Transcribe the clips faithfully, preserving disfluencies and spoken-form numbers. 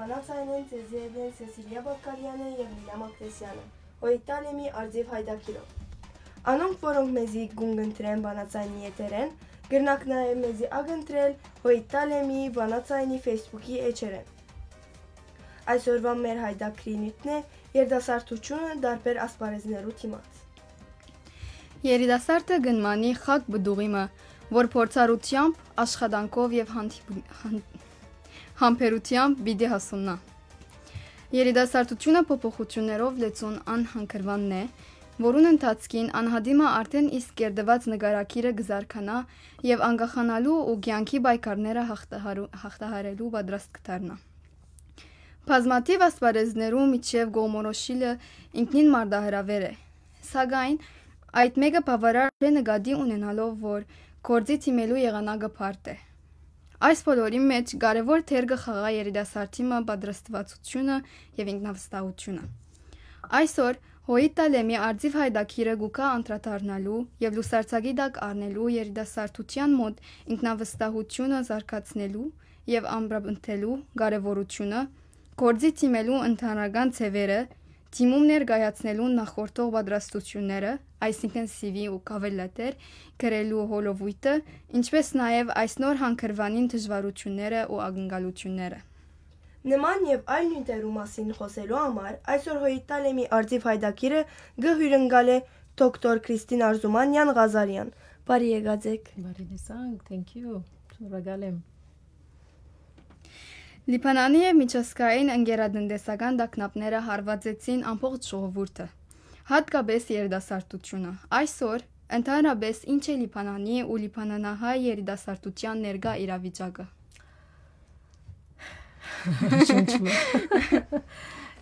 Բանաձայնեն ձեզի հետ են Սեսիլիա Բակալեանը եւ Լիլա Մակրեսյանը, Հոյիտ Տալեմի Արծիվ Հայդակիրով։ Անոնք, որոնք մեզի կունկնդրեն բանաձայնի եթերէն, կրնաք նաեւ մեզի ակընտրել Հոյիտ Տալեմի բանաձայնի Facebook-ի էջերէն։ Այսօրուան մեր հայդակիրի նիւթն է երիտասարդութիւնը տարբեր ասպարեզներու դիմաց։ Երիտասարդը կ'ընմանի խակ պտուղի մը, որ փորձառութեամբ, աշխատանքով եւ հանդիպ-, հան-, համբերութեամբ պիտի հասուննայ։ Երիտասարդութիւնը փոփոխութիւններով լեցուն անհանգրուանն է, որուն ընթացքին անհատի մը արդէն իսկ կերտուած նկարագիրը կը զարգանայ եւ անկախանալու ու կեանքի պայքարները հաղթահարու-, հաղթահարելու պատրաստ կը դառնայ։ Բազմաթիւ ասպարեզներու միջեւ կողմորոշիլը ինքնին մարտահրաւեր է, սակայն այդ մէկը բաւարար չէ նկատի ունենալով, որ գործի դիմելու եղանակը բարդ է։ Այս բոլորին մէջ կարեւոր դեր կը խաղայ երիտասարդի մը պատրաստուածութիւնը եւ ինքնավստահութիւնը։ Այսօր Հոյիտ Տալեմի Արծիվ Հայդակիրը կու գայ անդրադառնալու եւ լուսարձակի տակ առնելու երիտասարդութեան մօտ ինքնավստահութիւնը զարգացնելու եւ ամրապնդելու կարեւորութիւնը, գործի դիմելու ընդհանրական ձեւերը, դիմում ներկայացնելու նախորդող պատրաստութիւնները, այսինքն C V ու cover letter, գրելու հոլովոյթը, ինչպէս նաեւ այս նոր հանգրուանին դժուարութիւնները ու ակնկալութիւնները։ Նման եւ այլ նիւթերու մասին խօսելու համար այսօր Հոյիտ Տալեմի Արծիվ Հայդակիրը կը հիւրընկալէ դոկտոր Քրիստին Արզումանեան Ղազարեան։ Բարի եկած էք։ Բարի լսանք, thank you, շնորհակալ եմ։ Լիբանանի եւ միջազգային ընկերատնտեսական տագնապները հարվածեցին ամբողջ ժողովուրդը, հատկապես երիտասարդութիւնը։ Այսօր, ընդհանրապես, ի՞նչ է Լիբանանի ու լիբանանահայ երիտասարդութեան ներկայ իրավիճակը։ Շունչ մը։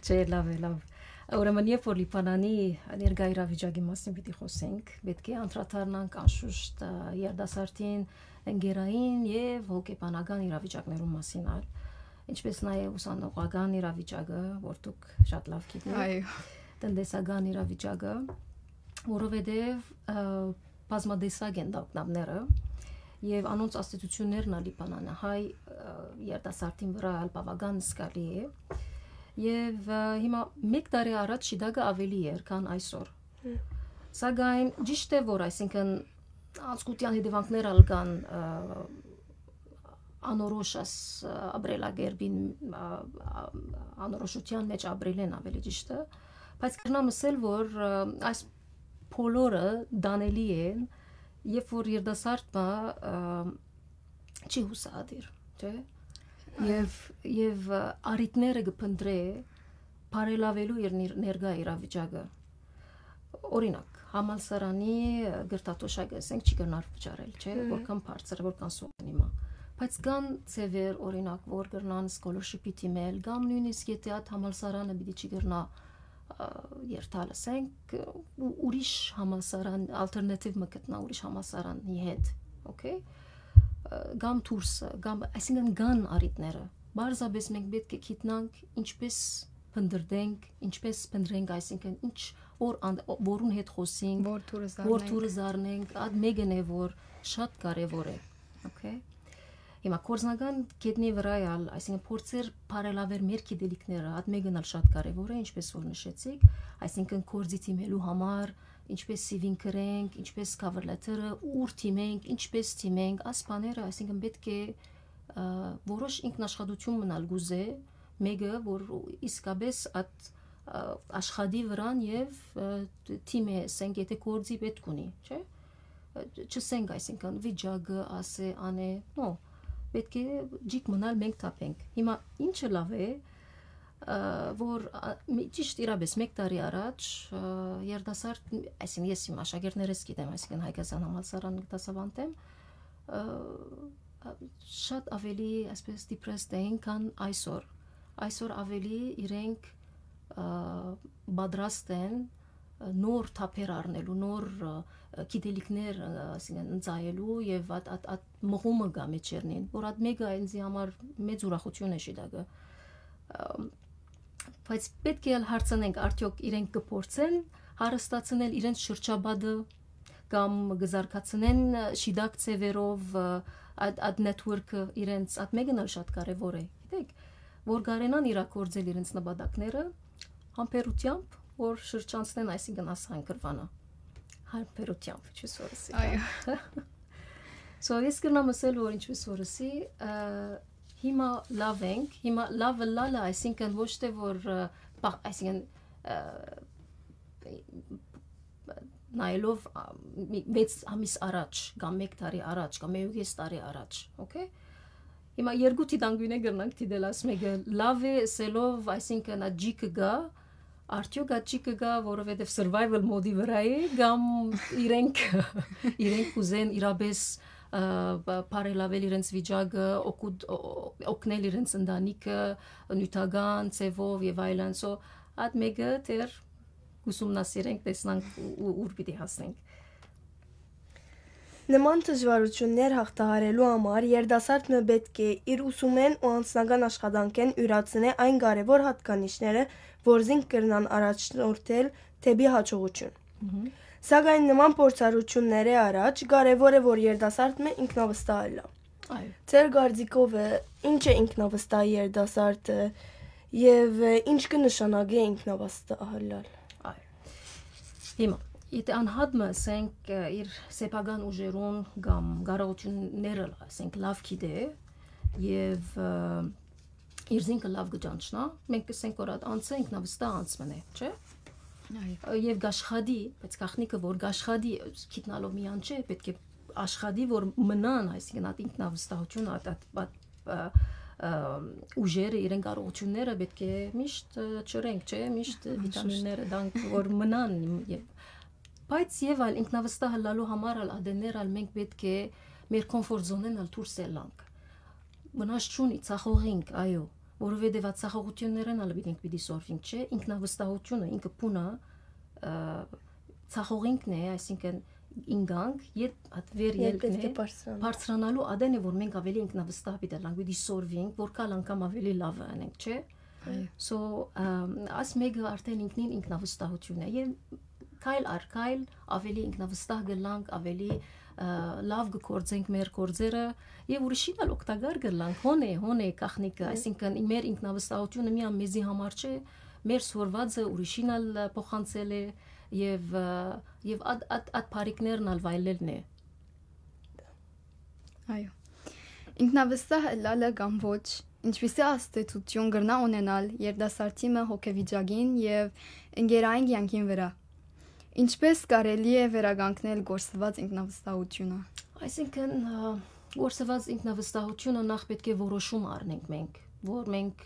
Չէ, լաւ է, լաւ։ Ուրեմն, երբ որ Լիբանանի ներկայ իրավիճակի մասին պիտի խօսենք, պէտք է անդրադառնանք անշուշտ, ը, երիտասարդին ընկերային եւ հոգեբանական իրավիճակներու մասին ալ, ինչպէս նաեւ ուսանողական իրավիճակը, որ դուք շատ լաւ գիտէք, այո, տնտեսական իրավիճակը, որովհետեւ, ը, բազմատեսակ են տագնապները եւ անոնց ազդեցություններն ալ Լիբանանահայ, ը, երիտասարդին վրայ ալ բաւական զգալի է։ Եւ, ը, հիմա մէկ տարի առաջ շիտակը ավելի էր, քան այսօր։ Հմ։ Սակայն ճիշդ է, որ, այսինքն, անցկութեան հետեւանքներ ալ կան, ը, անորոշ աս, ը, ապրելակերպին, ը, ը, անորոշութեան մէջ ապրելէն, ավելի ճիշդը, բայց կրնամ ըսել, որ, ը, այս բոլորը տանելի են, երբ որ երիտասարդ մը, ը, չի յուսահատիր, չէ՞։ Այո։ Եւ, եւ, ը, առիթները կը փնտրէ բարելաւելու իր նիր-, ներկայ իրավիճակը։ Օրինակ, համալսարանի, ը, կրթաթոշակը, ասենք, չի կրնար վճարել, չէ՞, հմ, որքան բարձր է, որքան սուղ է հիմա։ Բայց կան ձեւեր, օրինակ, որ կրնան scholarship-ի դիմել, կամ նոյնիսկ եթե այդ համալսարանը պիտի չի կրնա, ը, երթալ, ասենք, ու ուրիշ համալսարան, alternative մը գտնա ուրիշ համալսարանի հետ, okay? Ը, կամ դուրսը, կամ, այսինքն, կան առիթները։ Պարզապես մենք պէտք է գիտնանք ինչպէս փնտրենք, ինչպէս փնտրենք, այսինքն, ինչ որ ան-, որուն հետ խօսենք, որ թուրը որ զարնենք, թուրը զարնենք, այդ մէկն է, որ շատ կարեւոր է, okay? Հիմա գործնական կետնի վրայ ալ, այսինքն, փորձեր բարելաւել մեր գիտելիքները, այդ մէկն ալ շատ կարեւոր է, ինչպես որ նշեցիք, այսինքն, գործի դիմելու համար, ինչպես C V-ն գրենք, ինչպես cover letter-ը, ուր դիմենք, ինչպես դիմենք, այս բաները, այսինքն, պէտք է, ը, որոշ ինքնաշխատութիւն մնալ կուզէ, մէկը, որ իսկապես այդ, ը, աշխատի վրան եւ, ը, թիմը, ասենք, եթե գործի պէտք ունի, չէ՞։ Ը, չսենք, այսինքն, վիճակը, ասէ, անէ, նո, պէտք է ջիկ մնալ, մենք թափենք։ Հիմա ի՞նչը լաւ է, ը, որ, ա, մի, ճիշտ իրապես մեկ տարի առաջ, ը, երիտասարդ, այսինքն, ես իմ աշակերտներս գիտեմ, այսինքն, Հայկական համալսարան կը դասաւանդեմ, ը, ա, շատ ավելի, այսպես, depressed էին, քան այսօր։ Այսօր ավելի իրենք, ը, պատրաստ են, ը, նոր թափեր առնելու, նոր, ը, գիտելիքներ, ը, այսինքն, ընծայելու եւ այդ, այդ, այդ մղումը կայ մեջերնին, որ այդ մէկը ինձի համար մեծ ուրախութիւն է շիտակը։ Ը, բայց պէտք է ալ հարցնենք, արդեօք իրենք կը փորձեն հարստացնել իրենց շրջապատը կամ կը զարգացնեն, ը, շիտակ ձևերով, ը, այդ, այդ network-ը իրենց, այդ մէկն ալ շատ կարեւոր է, գիտեք, որ կարենան իրագործել իրենց նպատակները համբերությամբ, որ շրջանցնեն, այսինքն, աս հանգրվանը։ Համբերությամբ, ինչպես որ ասի, Այո։ So, ես կրնամ ասել, որ ինչպես որ ասի, ը, հիմա լաւ ենք, հիմա լաւը լալը, այսինքն, ոչ թե որ, ը, պա-, այսինքն, ը, նայելով, ա, մի վեց ամիս առաջ, կամ մեկ տարի առաջ, կամ մեկուկես տարի առաջ, օքեյ։ Հիմա երկու դիտանկիւնէ կրնանք դիտել, աս մէկը լաւ է, ասելով, այսինքն, ա ջիկը գայ, արդեօք ա ջիկը գայ, որովհետեւ survival mode-ի վրայ է, կամ իրենք, իրենք կ'ուզեն իրապէս, ը, բ-, բարելաւել իրենց վիճակը, օգուտ-, օ-, օ-, օգնել իրենց ընտանիքը, նիւթական ձեւով եւ այլն։ So, այդ մէկը դեռ կ'ուսումնասիրենք, տեսնանք ու, ու ուր պիտի հասնենք։ Նման դժուարութիւններ յաղթահարելու համար երիտասարդ մը պէտք է իր ուսումէն ու անձնական աշխատանքէն իւրացնէ այն կարեւոր յատկանիշները, որ զինք կրնան առաջնորդել դէպի յաջողութիւն։ Մհմ։ Սակայն նման փորձառութիւններէ առաջ կարեւոր է, որ երիտասարդ մը ինքնավստահ ըլլայ։ Այո։ Ձեր կարծիքով, ը, ինչ է ինքնավստահ երիտասարդը եւ, ը, ինչ կը նշանակէ ինքնավստահ ըլլալ։ Այո։ Հիմա, եթե անհատ մը, ասենք, ը, իր սեփական ուժերուն կամ կարողութիւնները, ասենք, լաւ գիտէ եւ, ը, իր զինքը լաւ կը ճանչնայ, մենք կ'ըսենք, որ այդ անձը ինքնավստահ անձ մըն է, չէ՞։ Այո։ Ը, եւ կ'աշխատի, բայց գաղտնիքը, որ կ'աշխատի, գիտնալով միայն չէ, պէտք է աշխատի, որ մնան, այսինքն, այդ ինքնավստահությունը, այդ, այդ, այդ, ը, ը, ուժերը, իրեն կարողութիւնները պէտք է միշտ, ը, չըրենք, չէ՞, միշտ Անշուշտ։ Վիտամինները տանք, որ մնան, եւ, բայց եւ այլ ինքնավստահ ըլլալու համար ալ, ատեններ ալ մենք պէտք է մեր comfort zone-էն ալ դուրս ելանք։ Վնաս չունի, ցախողինք, այո, որովհետեւ այդ ցախողութիւններէն ալ պիտի, պիտի սորվինք, չէ՞, ինքնավստահությունը, ինքը բունը, ը, ցախողինքն է, այսինքն ինգանք, յետ այդ վեր Յետ ելքն պէտք է է, բարձրանա։ Բարձրանալու ատեն է, որ մենք ավելի ինքնավստահ պիտի ըլլանք, պիտի սորվինք, որ կալ անգամ ավելի լաւը անենք, չէ՞։ Այո։ So, ըմ, աս մէկը արդեն ինքնին ինքնավստահութիւն է։ Եւ քայլ առ քայլ ավելի ինքնավստահ կ'ըլլանք, ավելի, ը, լաւ կ'գործենք մեր գործերը եւ ուրիշին ալ օգտակար կ'ըլլանք։ Հոն է, հոն է գաղտնիքը, Այո։ Այսինքն, մեր ինքնավստահութիւնը միայն մեզի համար չէ, մեր սորվածը ուրիշին ալ փոխանցել է եւ, ը, եւ այդ, այդ, այդ բարիքներն ալ վայելելն է։ Այո։ Ինքնավստահ ըլլալը կամ ոչ, ինչպիսի ազդեցութիւն կրնայ ունենալ երիտասարդի մը հոգեվիճակին եւ ընկերային կեանքին վրայ։ Ինչպէս կարելի է վերականգնել կորսուած ինքնավստահութիւնը։ Այսինքն, ը, կորսուած ինքնավստահութիւնը նախ պէտք է որոշում առնենք մենք, որ մենք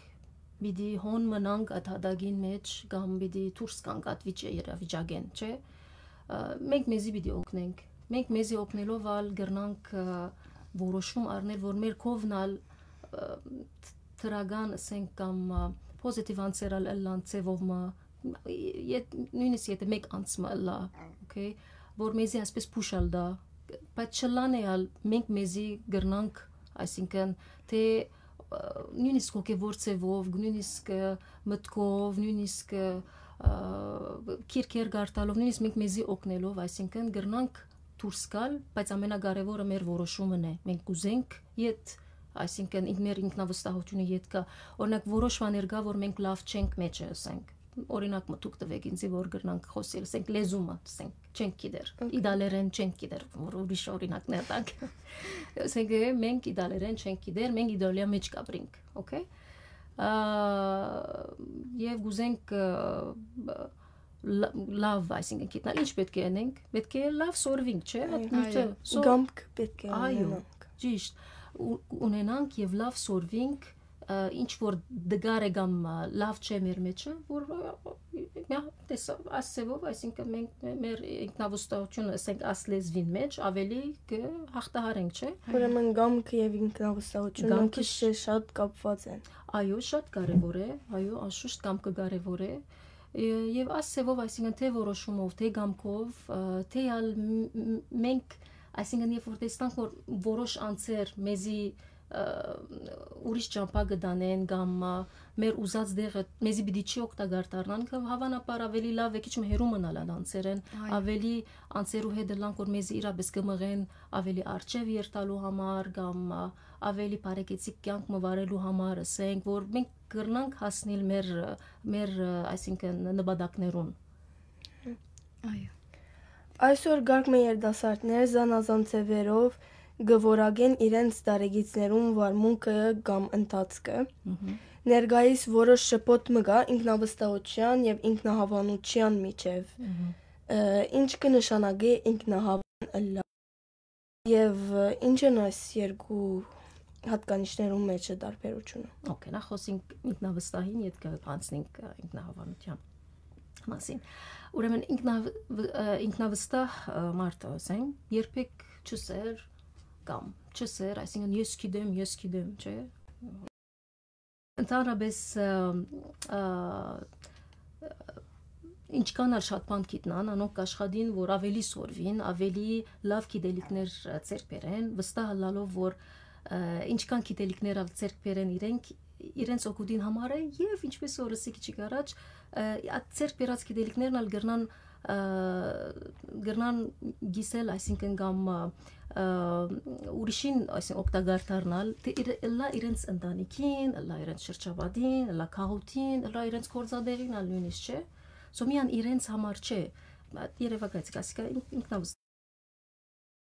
պիտի հոն մնանք այդ յատակին մէջ կամ պիտի դուրս գանք այդ վիճ-, իրավիճակէն, չէ՞։ Ը, մենք մեզի պիտի օգնենք։ Մենք մեզի օգնելով ալ կրնանք, ը, որոշում առնել, որ մեր կողմն ալ, ը, դրական, ասենք, կամ, ը, պոզիտիվ անձեր ալ ըլլան ձևով մը, ե-, նոյնիսկ եթե մէկ անձ մը ըլլայ, օքեյ, որ մեզի այսպես փուշ ալ տայ, բայց չըլլան է ալ մենք մեզի կրնանք, այսինքն, թե, ը, նոյնիսկ հոգեվոր ձևով, նոյնիսկ, ը, մտքով, նոյնիսկ, ը, ը, քիրքեր կարդալով, նոյնիսկ մենք մեզի օգնելով, այսինքն, կրնանք դուրս գալ, բայց ամենակարեւորը մեր որոշումն է։ Մենք կ'ուզենք յետ, այսինքն, ինք-, մեր ինքնավստահությունը յետ կայ։ Օրինակ, որոշ բաներ կայ, որ մենք լաւ չենք մեջը, ասենք։ Օրինակ մը դուք տուէք ինձի, որ կրնանք խօսիլ, ասենք, լեզումը, ասենք, չենք գիտեր, Օքեյ։ Իտալերեն չենք գիտեր, որ ուրիշ օրինակներ տանք։ Ասենք, մենք իտալերեն չենք գիտեր, մենք Իտալիա մէջ կ'ապրինք, օքեյ։ Ա, եւ կ'ուզենք, ը, լա-, լաւ, այսինքն, գիտնալ, ինչ պէտք է անենք, պէտք է լաւ սորվինք, չէ՞, այդ Այո։ նիւթը։ Այո։ So, կամք պէտք է Այո, ունենանք։ Ճիշտ, ու-, ունենանք եւ լաւ սորվինք, ը, ինչ որ դգար է կամ, ը, լաւ չէ մեր մեջը, որ, ը, մյա-, տեսա, աս ձևով, այսինքն, մենք մե-, մեր ինքնավստահությունը, ասենք, աս լեզվին մեջ ավելի կը հաղթահարենք, չէ՞։ Այո։ Ուրեմն կամքը եւ ինքնավստահությունը Կամքը քիչ շ- թե շատ կապված են։ Այո, շատ կարեւոր է, այո, անշուշտ կամքը կարեւոր է, ը, եւ աս ձևով, այսինքն, թե որոշումով, թե կամքով, ը, թե ալ մ-, մ-, մենք, այսինքն, երբ որ տեսնանք, որ որոշ անձեր մեզի, ը, ուրիշ ճամբայ կը տանեն կամ, ը, մեր ուզած դեղը մեզի պիտի չի օգտակար դառնան, կը-, հավանաբար ավելի լաւ է քիչ մը հեռու մնալ այդ անձերէն, Այո։ Ավելի անձերու հետ ըլլանք, որ մեզի իրապէս կը մղեն ավելի առջեւ երթալու համար կամ, ը, ավելի բարեկեցիկ կեանք մը վարելու համար, ասենք, որ մենք կրնանք հասնիլ մեր, մեր, այսինքն, նպատակներուն։ Այո։ Այսօր կարգ մը երիտասարդներ զանազան ձևերով կը որակեն իրենց տարեգիցներուն վարմունքը կամ ընթացքը։ Մհմ։ Ներկայիս որոշ շփոթ մը կա ինքնավստահության եւ ինքնահաւանության միջեւ։ Մհմ։ Ը, ինչ կը նշանակէ ինքնահաւան ըլլալ եւ, ը, ինչ են այս երկու հատկանիշներուն մէջը տարբերությունը։ Okay, նախ խօսինք ինքնավստահին, ետքը անցնենք, ը, ինքնահաւանության մասին։ Ուրեմն ինքնավ-, ը, ինքնավստահ, ը, մարդը, ասենք, երբեք չսեր կամ չսեր, այսինքն ես գիտեմ, ես գիտեմ, չէ՞։ Ընդհանրապես, ը, ը, ինչքան ալ շատ բան գիտնան, անոնք կաշխատին, որ ավելի սորվին, ավելի լաւ գիտելիքներ, ը, ձեռք բերեն, վստահ ըլլալով, որ, ը, ինչքան գիտելիքներ ալ ձեռք բերեն իրենք, իրենց օգուտին համար է, եւ ինչպես որ ըսի քիչ առաջ, ը, այդ ձեռք բերած գիտելիքներն ալ կրնան, ը, կրնան գիսել, այսինքն կամ, ը, ը, ուրիշին, այսինքն օգտակար դառնալ, թէ իր-, ըլլայ իրենց ընտանիքին, ըլլայ իրենց շրջապատին, ըլլայ քաղաքին, ըլլայ իրենց գործատեղին ալ նույնիսկ, չէ՞։ So միան իրենց համար չէ, երեւակայեցի, ասիկա ինք-, ինքնավս-,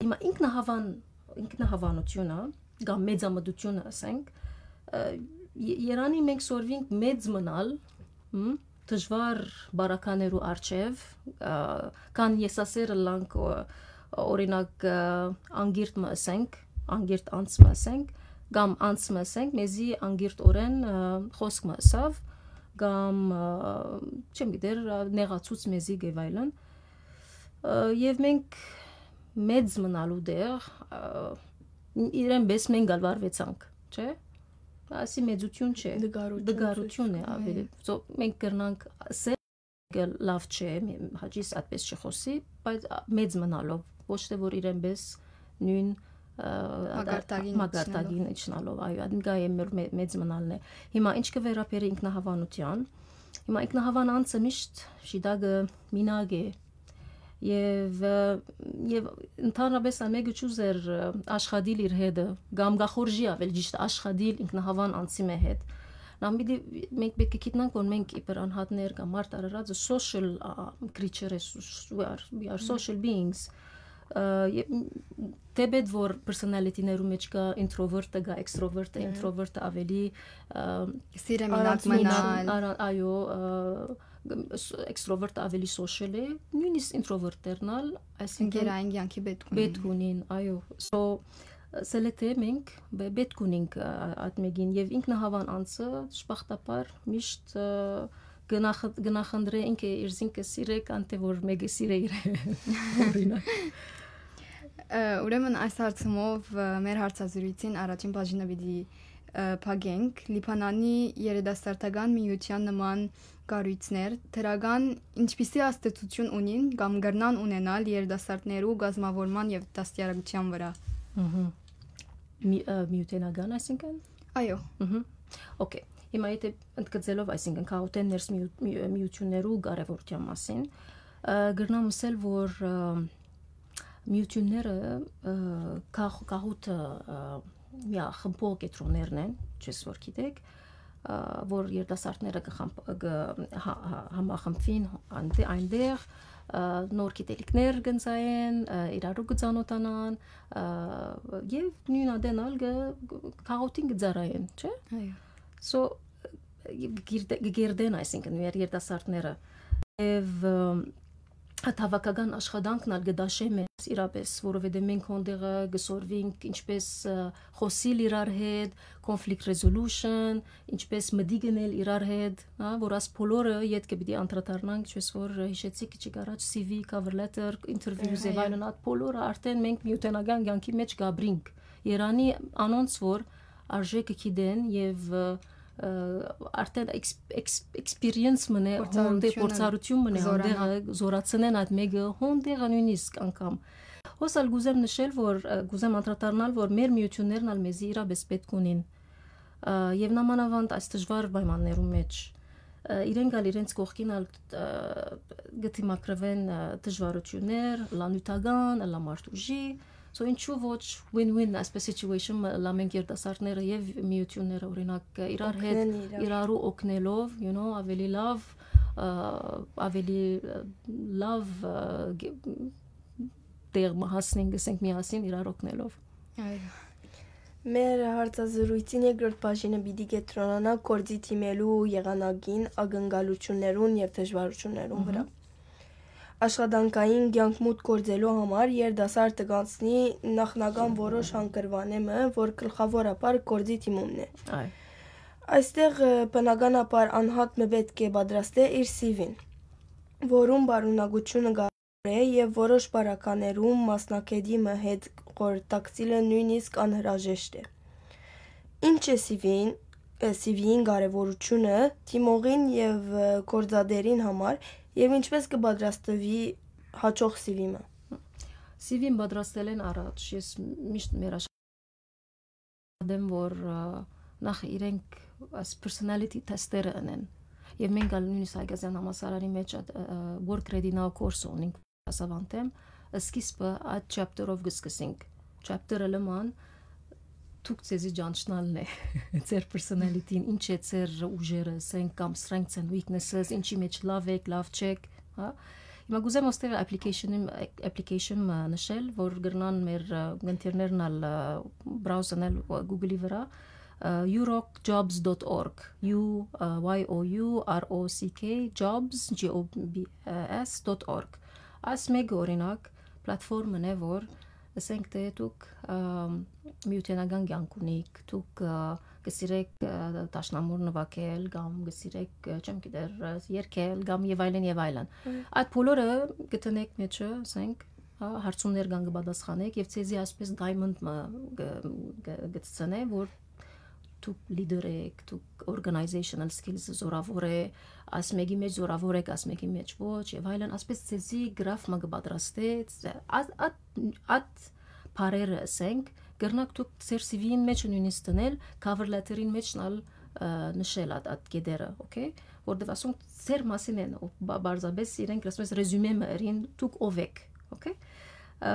հիմա ինքնահավան-, ինքնահավանությունը կամ մեծամտությունը, ասենք, ը, ե-, երանի մենք սորվինք մեծ մնալ, հմ, դժուար բարականերու առջեւ, ը, կան եսասեր ըլլանք, ը, օրինակ, ը, անգիրտ մը ըսենք, անգիրտ անձ մը ըսենք, կամ անձ մը ըսենք, մեզի անգիրտօրէն, ը, խօսք մը ըսաւ, կամ, ը, չեմ գիտեր, ը, նեղացուց մեզի եւ այլն։ Ը, եւ մենք մեծ մնալու դեղ, ը, իրեն պես մենք ալ վարվեցանք, չէ՞։ Ասի մեծություն չէ, դգարություն դգարություն է ցույց, ավելի։ Այո։ So, մենք կրնանք ասել, լավ չէ, մի-, հաճիս այդպես չխոսի, բայց, ա, մեծ մնալով, ոչ թե որ իրեն պես նույն, ը, մակարդակին մակարդակին իջնալով, այո, այդ նկայ է մեր մե-, մեծ մնալն է։ Հիմա ինչ կը վերաբերի ինքնահավանության, հիմա ինքնահավան անձը միշտ շիտակը մինակ է, եւ, ը, եւ ընդհանրապես ամեկը չուզեր, ը, աշխատիլ իր հետը, կամ գախորժի ավել ճիշտ աշխատիլ ինքնահավան անձի մե հետ։ Նամ պիտի մենք պետք է գիտնանք, որ մենք իբր անհատներ կամ մարդ արարածը social, ա, creature է, we are, we are social beings։ Ը, ե-, դեպետ որ personality-ներու մեջ կա introvert-ը, կա extrovert-ը, Հը։ Introvert-ը ավելի, ը, Սիրե մինակ առանց մնալ։ Մնալ, արա-, այո, ը, ս-, extrovert-ը ավելի social է, նույնիսկ introvert-ներն ալ, այսինքն Ընկերային կյանքի պետք ունին։ Պետք ունին, այո։ So, սելեթե մենք պե-, պետք ունենք, ա, այդ մեկին, եւ ինքնահավան անձը շպախտապար միշտ, ը, գնախ-, գնախնդրե ինքը իր զինքը սիրե, քան թե որ մեկը սիրե իր օրինակ։ Ը, ուրեմն այս հարցումով, ը, մեր հարցազրույցին առաջին բաժինը պիտի, ը, փակենք։ Լիբանանի երիտասարդական միության նման կառույցներ դրական ինչպիսի ազդեցություն ունին կամ կրնան ունենալ երիտասարդներու կազմավորման եւ դաստիարակության վրա։ Մհմ։ Մի-, ը, միութենական, այսինքն։ Այո։ Մհմ։ Okay։ Հիմա եթե ընդգծելով, այսինքն, քաղաքեն ներս միու-, մի-, միություններու կարևորության մասին, ը, կրնամ ասել, որ, ը, միությունները, ը, կախ-, կախութը, ը, միախմբող կեդրոններն են, չես որ գիտեք, ը, որ երիտասարդները կը խմբ-, կը հա-, հա-, համախմբվին անտե-, այնտեղ, ը, նոր գիտելիքներ կընծայեն, ը, իրարու կը ծանոթանան, ը, եւ նույն ատեն ալ կը, քաղաքին կը ծառայեն, չէ՞։ Այո։ So, գիրդե-, կգերդեն, այսինքն, մեր երիտասարդները։ Եւ, ը, այդ հավաքական աշխատանքն ալ կը դաշէ մեզ իրապես, որովհետեւ մենք հոնդեղը կը սորվինք ինչպես, ը, խոսիլ իրար հետ, conflict resolution, ինչպես մտիկ ընել իրար հետ, հա, որ աս բոլորը ետքը պիտի անդրադառնանք, ինչպես որ հիշեցի քիչ առաջ, C V, cover letter, interviews Այո, եւ այո։ Այլն, այդ բոլորը արդեն մենք միութենական կյանքի մեջ կապրինք։ Երանի անոնց, որ արժեքը գիտեն եւ, ը, ը, արդեն էքս-, էքս-, experience մնե, հոնդե Փորձառությունը փորձառություն մնե, կզորանա։ Հոնդեղը զորացնեն այդ մեկը, հոնդեղը նույնիսկ անգամ։ Հոս ալ կուզեմ նշել, որ, ը, կուզեմ անդրադառնալ, որ մեր միություններն ալ մեզի իրապես պետք ունին, ը, եւ նամանավանդ այս դժվար պայմաններու մեջ, ը, իրենք ալ իրենց կողքին ալ, ը, կը դիմագրվեն, ը, դժվարություններ, լա նյութական, լա մարդ ուժի, So ինչու ոչ win-win այսպես situation մը ըլլայ, մենք երիտասարդները եւ միությունները, օրինակ, իրար հետ, իրարու օգնելով, you know, ավելի լավ, ը, ավելի, ը, լավ, ը, գ-, տեղ մը հասնենք, ասենք, միասին իրար օգնելով։ Այո։ Մեր հարցազրույցին երկրորդ բաժինը պիտի կեդրոնանայ գործի դիմելու եղանակին, ակնկալութիւններուն եւ դժուարութիւններուն վրայ։ Մհմ։ Աշխատանքային կեանք մուտք գործելու համար երիտասարդը կանցնի նախնական որոշ հանգրուանէ մը, որ գլխաւորաբար գործի դիմումն է։ Այ։ Այստեղ, ը, բնականաբար անհատ մը պէտք է պատրաստէ իր սի վին, որուն պարունակութիւնը կարեւոր է եւ որոշ պարագաներում մասնագէտի մը հետ խորհրդակցիլը նոյնիսկ անհրաժեշտ է։ Ինչ է սի վին, ը, սի վին կարեւորութիւնը դիմողին եւ, ը, գործատէրին համար եւ ինչպէս կը պատրաստուի հաջող սի վի մը։ Սի վին պատրաստելէն առաջ ես միշտ մեր ադեմ, որ, ը, նախ իրենք այս personality test-երը ընեն։ Եւ մենք ալ նոյնիսկ Հայկազեան համալսարանի մեջ այդ, ը, work ready now course ունենք, ասաւանտեմ, սկիզբը այդ chapter-ով կը սկսենք։ Chapter-ը լման դուք ձեզի ճանչնալն է, ձեր personality-ն, ինչ է ձեր ուժերը, ասենք, կամ strengths and weaknesses, ինչի մեջ լավ եք, լավ չեք, հա։ Հիմա կուզեմ ոստեղ application-ը, application-ը նշել, որ կրնան մեր, ը, գնտիրներն ալ, ը, browse անել Google-ի վրա, ը, euroc jobs dot org, U, ը, Y O U R O C K, jobs, J O B S dot org։ Այս մեկը, օրինակ, պլատֆորմն է, որ, ասենք, դե դուք, ը, միութենական կեանք ունիք, դուք, ը, կը սիրեք, ը, դաշնամուր նուագել կամ կը սիրեք, ը, չեմ գիտեր, ը, երգել կամ եւ այլն, եւ այլն։ Մհմ։ Այդ բոլորը կը տնեք մեջը, ասենք, հա, հարցումներ կան, կը պատասխանեք եւ ձեզի այսպես diamond մը կը, կը, կը ցցնէ, որ դուք leader եք, դուք organizational skills-ը զորաւոր է, այս մեկի մեջ զորաւոր եք, այս մեկի մեջ ոչ, եւ այլն, այսպես ձեզի գրաֆ մը կը պատրաստէ, այդ, այդ, այդ բառերը, ասենք, կրնաք դուք ձեր սի վի-ին մեջ նոյնիսկ դնել, cover letter-ին մեջ ալ, ը, նշել այդ, այդ կետերը, okay, որտեւ ասոնք ձեր մասին են, ու բա-, պարզապես իրենք, ասում ես, ռեզյումե մը ըրին, դուք ով եք, okay։ Ը,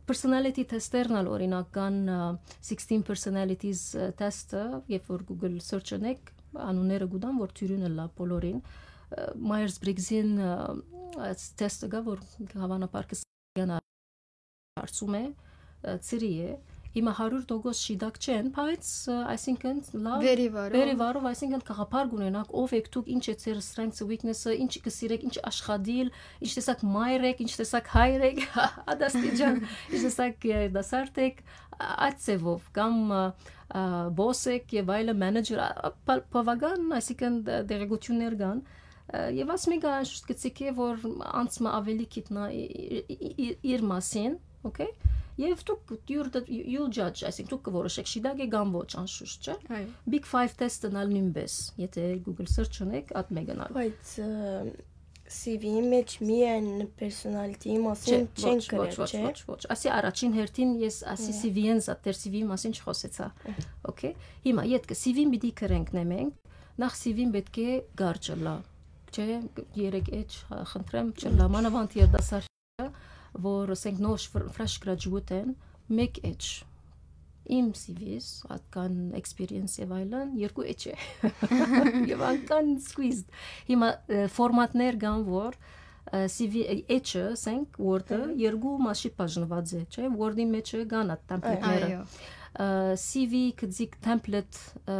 personality test-երն ալ, օրինակ, կան, ը, sixteen personalities, ը, test-ը, երբ որ Google search ընեք, անունները կու տան, որ դիւրին ըլլայ բոլորին։ Ը, Myers-Briggs-ին, ը, այս test-ը կայ, որ հավանաբար կը սանան, հարցում է, ը, ծրի է։ Հիմա հարիւր տոկոս շիտակ չեն, բայց, ը, այսինքն, լավ, վերի վարով, վերի վարով, այսինքն, գաղափար կունենաք, ով եք դուք, ինչ է ձեր strengths-ը, weakness-ը, ինչ կը սիրեք, ինչ աշխատիլ, ինչ տեսակ մայր եք, ինչ տեսակ հայր եք, ադաստիճան, ինչ տեսակ երիտասարդ եք, ա-, այդ ձևով, կամ, ը, ը, boss եք եւ այլը, manager, ա, ա, բա-, բավական, այսինքն, դ-, տեղեկութիւններ կան, ը, եւ աս մեկը անշուշտ կցիք է, որ անց մը ավելի գիտնա ի-, ի-, ի-, ի-, իր մասին, okay? Եւ դուք, you're the, you, you'll judge, այսինքն, դուք կորոշեք, շիտակ է կամ ոչ, անշուշտ, չէ՞։ Այո։ Big Five test-ն ալ նոյնպես, եթե Google search ունեք, այդ մեկն ալ։ Բայց, ը, սի վի-ի մեջ միայն personality-ի մասին Չէ, չեն ոչ, գրել, ոչ, ոչ, չէ՞։ Ոչ, ոչ։ Ասի առաջին հերթին ես ասի Այո։ սի վի-ին զատ, դեր սի վի-ի մասին չխոսեցա։ Այո։ Okay։ Հիմա ետքը սի վի-ին պիտի գրենք նե մենք, նախ սի վի-ին պէտք է կարճ ըլլայ, չէ՞, երեք էջ, հա, խնդրեմ, չըլլայ, մանաւանդ երիտասարդ, որ, ասենք, նոր ֆր-, fresh graduate են, մեկ էջ։ Իմ սի վի-ս, ատկան experience եւ այլն, երկու էջ է։ Եվ անկան squeezed։ Հիմա, ը, ֆորմատներ կան, որ, ը, սի վի, էջը, ասենք, Word-ը, Ահա։ երկու մասի բաժնված է, չէ՞, Word-ի մեջ կան այդ template-ները։ Այո։ Ը, սի վի գծիկ template, ը,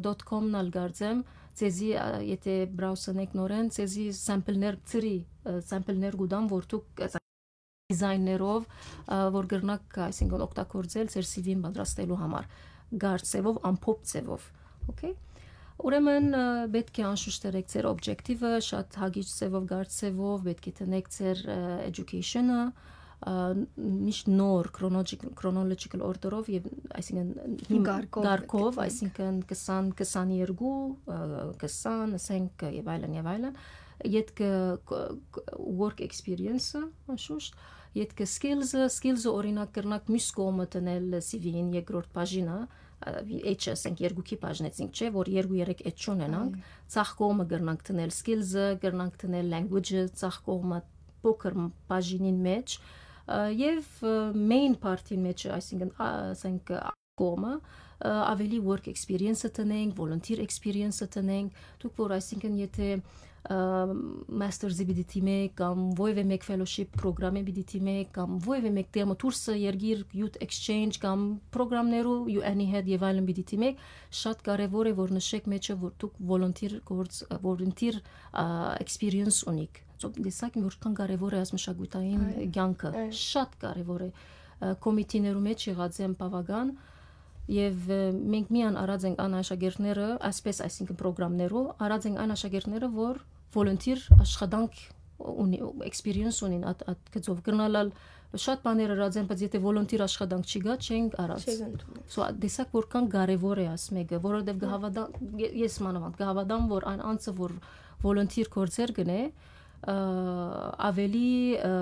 dot com-ն ալ կարծեմ, ձեզի, ա, եթե browse-ընեք նորեն, ձեզի sample-ներ, ծրի, ը, sample-ներ կու տան, որ դուք, ը, design-ներով, ը, որ կրնաք, այսինքն, օգտագործել ձեր սի վի-ն պատրաստելու համար, կարճ ձևով, ամփոփ ձևով, okay։ Ուրեմն, ը, պէտք է անշուշտ դրեք ձեր objective-ը, շատ հագիչ ձևով, կարճ ձևով, պէտք է տնեք ձեր, ը, education-ը, ը, միշտ նոր chronologic-, chronological order-ով եւ, այսինքն, հիմ-, Կարգով կարգով, պետք է այսինքն, քսան, քսաներկու, ը, քսան, ասենք, եւ այլն, եւ այլն, ետքը կ-, կ-, work experience-ը, անշուշտ, ետքը skills-ը, skills-ը, օրինակ, կրնաք մյուս կողմը դնել սի վի-ին երկրորդ բաժինը, ա, էջ, ասենք, երկուքի բաժնեցինք, չէ՞, որ երկու-երեք էջ չունենանք, Այո։ Ցախ կողմը կրնանք դնել skills-ը, կրնանք դնել language-ը, ցախ կողմը փոքր մ-, բաժինին մեջ, Ա, եւ, ը, main part-ին մեջ, այսինքն, ա, ասենք, ա, կողմը, ը, ավելի work experience-ը տնենք, volunteer experience-ը տնենք, դուք որ, այսինքն, եթե, ը, master's-ի պիտի դիմեք, կամ որևէ մեկ fellowship պրոգրամի պիտի դիմեք, կամ որևէ մեկ տեղը դուրսը երկիր youth exchange, կամ պրոգրամներու U N-ի հետ եւ այլն պիտի դիմեք, շատ կարեւոր է որ նշեք մեջը, որ դուք volunteer գործ, volunteer, ա, experience ունիք։ So, տեսակ, որքան կարեւոր է այս մշակութային Այո, կյանքը, այո։ շատ կարեւոր է։ Ա, կոմիտիներու մեջ եղած եմ բաւական, եւ, ը, մենք միան առած ենք այն աշակերտները, այսպես, այսինքն պրոգրամներու, առած ենք այն աշակերտները, որ volunteer աշխատանք ունի, experience ունին, այդ, այդ գծով կրնալալ շատ բաներ ըրած են, բայց եթե volunteer աշխատանք չի գա, չենք առած։ Չեք ընդունել։ So, ա, տեսակ որքան կարեւոր է այս մեկը, որովհետեւ կհավատա-, ե-, ես մանավանդ կհավատամ, որ այն անձը, որ volunteer գործեր կնե, ը, ավելի, ը,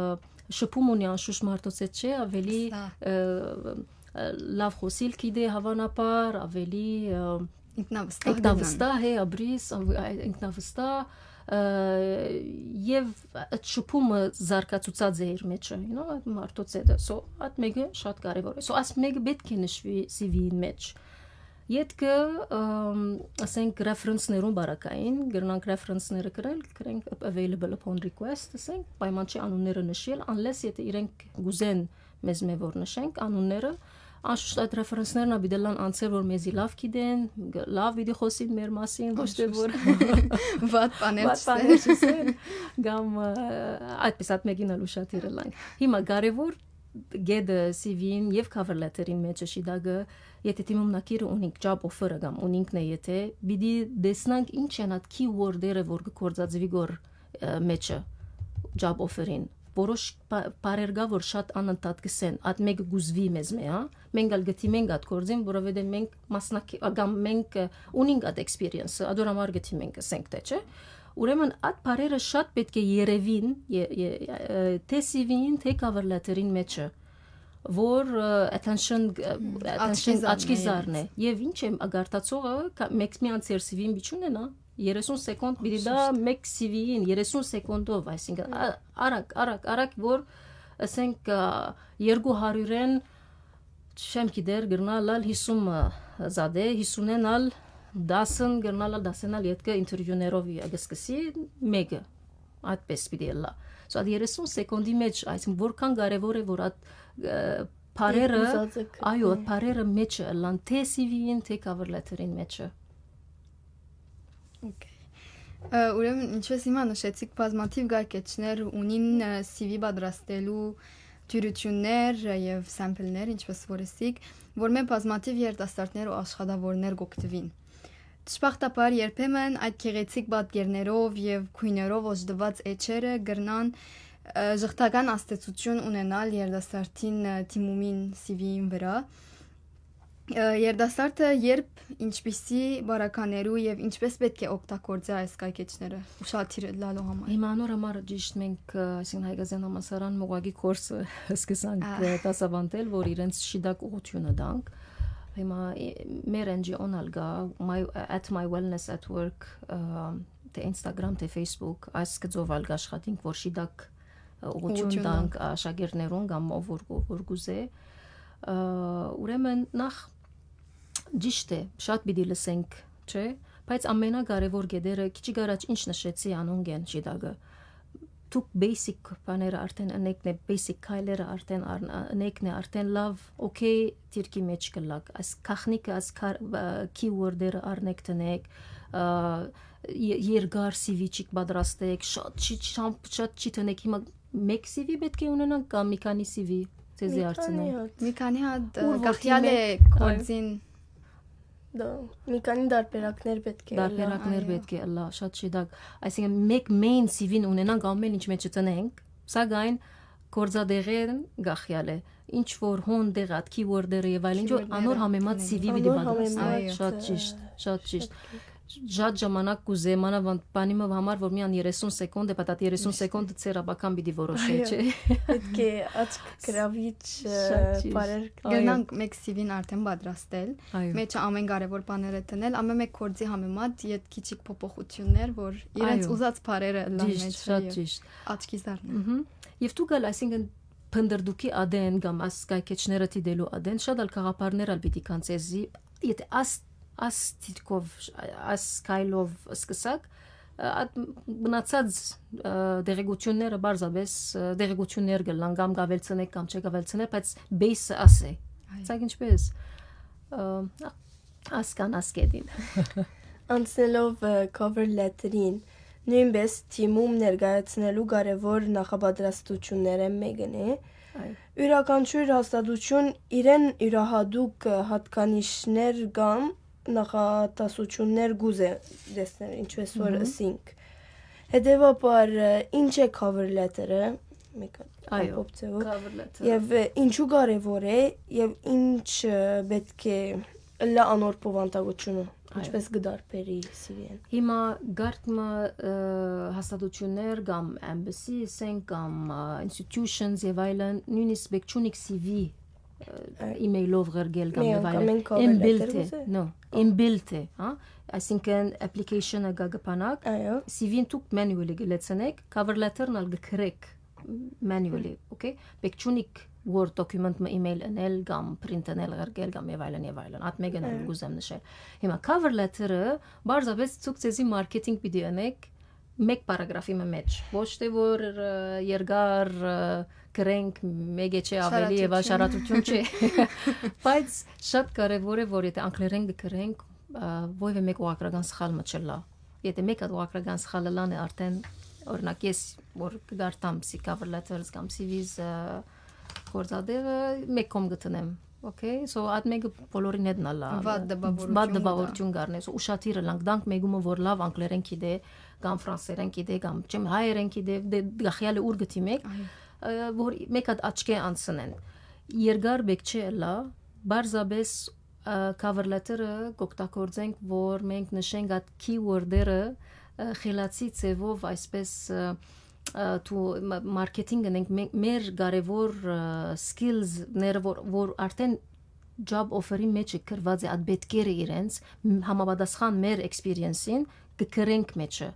շփում ունի անշուշտ մարդոց հետ, չէ, ավելի, Վստահ։ ը, ը, լավ խոսիլ գիտե, հավանաբար, ավելի, ը, Ինքնավստահ ինքնավստահ է, ապրիս, ա, ինքնավստահ, ը, եւ այդ շփումը զարգացուցած է իր մեջը, you know, այդ մարդոց հետ։ So, այդ մեկը շատ կարեւոր է։ So, այս մեկը պետք է նշվի C V-ին մեջ։ Ետքը, ըմ, ասենք, reference-ներուն բարակային, կրնանք reference-ները գրել, գրենք available upon request, ասենք, պայման չի անունները նշել, unless եթե իրենք գուզեն մեզ մէ որ նշենք անունները, անշուշտ այդ reference-ներն ա պիտի լան անձեր, որ մեզի լավ գիտեն, գ-, լավ պիտի խոսին մեր մասին, ոչ թե որ Անշուշտ։ Վատ բաներ վատ չասեն։ Բաներ չասեն, կամ, ը, այդպես այդ մեկին ալ ուշադիր ըլանք։ Հիմա կարեւոր գեդը C V-ին եւ cover letter-ին մեջը շիտակը, եթե դիմումնակիրը ունինք, job offer-ը կամ ունինքն է, եթե պիտի տեսնանք ինչ են այդ keyword-երը, որ կգործածվի գոր, ը, մեջը, job offer-ին։ Որոշ պա-, պարեր կա, որ շատ անընդհատ կսեն, այդ մեկը գուզվի մեզ մե, հա։ Մենք ալ գտիմենք այդ գործին, որովհետեւ մենք մասնակի-, ա, կամ մենք, ը, ունինք այդ experience-ը, ադոր համար գտիմենք, ասենք թե, չէ։ Ուրեմն այդ պարերը շատ պետք է երևին, ե-, ե-, ը, թե C V-ին, թե cover letter-ին մեջը, որ, ը, attention, ը, Հմ, attention, աչքի աչքի զարնե, զարնե։ Եվ ինչ է, ագարտացողը, կա-, մեկ մի անցեր C V-ին պիտի չունենա, երեսուն սեկոնդ պիտի դա Անշուշտ։ Մեկ C V-ին, երեսուն սեկոնդով, այսինքն, ա-, արագ, արագ, արագ, որ, ասենք, ա, երկու հարիւրէն, չեմ գիտեր, կրնալ ալ հիսուն, ը, զատե, հիսունէն ալ դասն, կրնալ ալ դասէն ալ ետքը interview-ներով ի-, կսկսի մեկը, այդպես պիտի ըլլա։ So, այդ երեսուն սեկոնդի մեջ, այսինքն, որքան կարեւոր է, որ այդ, ը, պարերը, Դեր ուզածը գտնի։ Այո, այդ պարերը մեջը ըլլան, թե C V-ին, թե cover letter-ին մեջը։ Okay։ Ը, ուրեմն, ինչպես հիմա նշեցիք, բազմաթիվ կայքէջներ ունին, ը, C V պատրաստելու դյուրութիւններ, ը, եւ sample-ներ, ինչպես որ ըսիք, որ մէ բազմաթիվ երիտասարդներ ու աշխատաւորներ կօգտուին։ Դժբախտաբար, երբեմն այդ գեղեցիկ պատկերներով եւ գոյներով օժտուած էջերը կրնան, ը, ժխտական ազդեցութիւն ունենալ երիտասարդին, ը, դիմումին C V-ին վրայ։ Ը, երիտասարդը երբ, ինչպիսի բարականերու եւ ինչպես պետք է օգտագործի այս կայքէջները, ուշադիր ըլլալու համար։ Հիմա անոր համար ճիշտ մենք, ը, այսինքն, Հայկազեան համալսարան մողակի կորսը սկսանք, Ա։ ը, դասավանդել, որ իրենց շիտակ ուղղութիւնը տանք։ Հիմա, ը, մեր N G O-ն ալ կա, My, at My Wellness at Work, ը, թե Instagram, թե Facebook, այս գծով ալ կաշխատենք, որ շիտակ, ը, ուղղութիւն Ուղղութիւն տանք տանք։ Աշակերտներուն կամ ով որ կու-, որ կուզէ։ Ը, ուրեմն նախ ճիշտ է, շատ պիտի լսենք, չէ՞, բայց ամենակարևոր գետերը, քիչ առաջ ինչ նշեցի, անոնք են շիտակը։ Դուք basic բաները արդեն ընեկն է, basic քայլերը արդեն առն-, ընեկն է, արդեն լավ, okay, դիրքի մեջ կլակ։ Այս գաղտնիքը, այս քար-, ը, keyword-երը առնեք տնեք, ը, ե-, երկար C V չիք պատրաստեք, շատ չի, շատ, շատ չի տնեք, հիմա մեկ C V պետք է ունենանք կամ մի քանի C V, ձեզի Մի քանի հարցնեմ։ հատ։ Մի քանի հատ, ը, Ուր որ գախյալ է դիմեք, այո։ Կորձին։ Դա, մի քանի դարբերակներ պետք է ըլլա, Դարբերակներ այո։ Պետք է ըլլա, շատ շիտակ։ Այսինքն, մեկ main C V-ն ունենանք, ամեն ինչ մեջը տնենք, սակայն գործադեղեն գախյալ է։ Ինչ որ հոն դեղ այդ keyword-երը եւ այլն, ինչ որ Keyword-ները անոր համեմատ տնենք։ C V պիտի Անոր պատրաստենք։ Համեմատ, Շատ ը, ճիշտ, շատ ճիշտ։ շատ գիք։ Շատ ժամանակ կուզե, մանավանդ բանի մը համար, որ միան երեսուն սեկոնդ է, բայց այդ երեսուն Ճիշտ է։ Սեկոնդը ձեր աբական պիտի որոշե, Այո։ Չէ՞։ Պետք է աչք գրավիչ, ը, Շատ ճիշտ։ Բարեր Այո։ Գնանք մեկ C V-ն արդեն պատրաստել։ Այո։ Մեջը ամեն կարևոր բաները տնել, ամեն մեկ գործի համեմատ յետ քիչիկ փոփոխություններ, որ իրենց Այո։ Ուզած բարերը ըլլան Ճիշտ, մեջը շատ եւ ճիշտ։ Աչքի զարնեն։ Մհմ։ Եվ դուք ալ, այսինքն, փնտռտուքի ատեն կամ աս կայքէջները դիտելու ատեն, շատ ալ գաղափարներ ալ պիտի կան ձեզի, եթե աս, աս դիրքով, աս քայլով սկսակ, ը, այդ մնացած, ը, տեղեկությունները պարզապէս, ը, տեղեկություններ կ'ըլլան, կամ կ'աւելցնեք, կամ չեք աւելցնեք, բայց base-ը աս է։ Այո։ Ցայ ինչպէս, ը, ասկան ասկետին։ Անցնելով, ը, cover letter-ին, նոյնպէս թիմում ներկայացնելու կարեւոր նախապատրաստություններէն մէկն է։ Այո։ Իւրաքանչիւր հաստատութիւն իրեն իւրահատուկ, ը, յատկանիշներ կամ նախատասություններ կ'ուզէ տեսնել, ինչպես որ Մհմ։ ըսինք։ Հետեւաբար, ը, ինչ է cover letter-ը, մեկ Այո, ամբողջ ձևով, cover letter-ը։ Եւ, ը, ինչու կարեւոր է, եւ ինչ, ը, պէտք է ըլլայ անոր բովանդակութիւնը, Այո։ ինչպես կը տարբերի C V-ն։ Հիմա կարգ մը, ը, հաստատութիւններ կամ embassy, ասենք, կամ, ը, institutions եւ այլն, նոյնիսկ պէտք չունի C V, ը, Այո։ email-ով ղրկել կամ Մի եւ անգամ այլն։ են cover Inbuilt letter է, կ'ուզէ։ No, Ա։ inbuilt է, հա? Այսինքն application-ը գա կը բանակ, Այո։ C V-ն դուք manually կը լեցնեք, cover letter-ն ալ կը գրեք manually, Հմ։ okay? Պէտք չունիք Word document մը email ընել կամ print ընել, ղրկել կամ եւ այլն, եւ այլն։ Այդ մէկն ալ Այո։ կ'ուզեմ նշել։ Հիմա cover letter-ը պարզապէս դուք ձեզի marketing պիտի ընեք մեկ պարագրաֆի մը մէջ։ Ոչ թե որ, ը, երկար, ը, գրենք, մեկ է չէ, ավելի եւ Շարադրություն։ շարադրություն չէ։ Բայց շատ կարեւոր է, որ եթե անգլերեն կը գրենք, ը, որեւէ մեկ ուղղագրական սխալ մը չըլլայ։ Եթե մեկ հատ ուղղագրական սխալ ըլլան է, արդեն, օրինակ, ես որ կգարտամ C cover letters կամ C Vs, ը, գործատեղը, մեկ կողմ կը դնեմ։ Okay, so այդ մեկը բոլորին հետն ալ լա, Վատ տպավորություն վատ կտա։ տպավորություն կ'առնես, ուշադիր ըլանք, դանք մեկումը որ լավ անգլերեն գիտէ, կամ ֆրանսերեն գիտէ, կամ չեմ հայերեն գիտէ, դե գախյալը ուր գտի մեկ, Այո։ ը, որ մեկ հատ աչքէ անցնեն։ Երկար բեք չէ ըլլայ, պարզապէս, ը, cover letter-ը կօգտագործենք, որ մենք նշենք այդ keyword-երը, ը, խելացի ձևով, այսպես, ը, ը, թու-, մա-, marketing ընենք, մե-, մեր կարևոր, ը, skills-ները, որ, որ արդեն job offer-ի մեջ է գրված է, այդ պետքերը իրենց, մ-, համապատասխան մեր experience-ին, կը գրենք մեջը։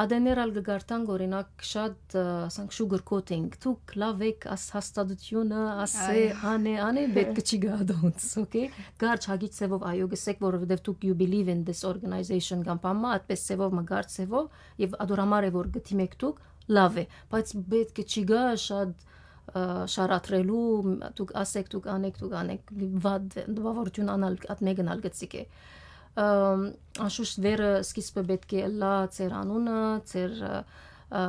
Ատեներ ալ կը գարտանք, օրինակ, շատ, ը, ասենք, sugar coating, դուք լավ եք, աս հաստատությունը, ասէ, Այ։ անէ, անէ, պետք չի գա don't, okay? Կարճ հագիկ ձևով այո գսեք, որովհետև դուք you believe in this organization կամ բան մը, այդպես ձևով մը կարճ ձևով, եւ ադոր համար է, որ գտիմեք դուք, լավ է, բայց պետք չի գա շատ, ը, շարադրելու, դուք ասեք, դուք անեք, դուք անեք, վատ, տպավորություն անալ, այդ մեկն ալ գցիկ է։ Ըմ, անշուշտ վերը սկիզբը պետք է ըլլա ձեր անունը, ձեր, ը, ը,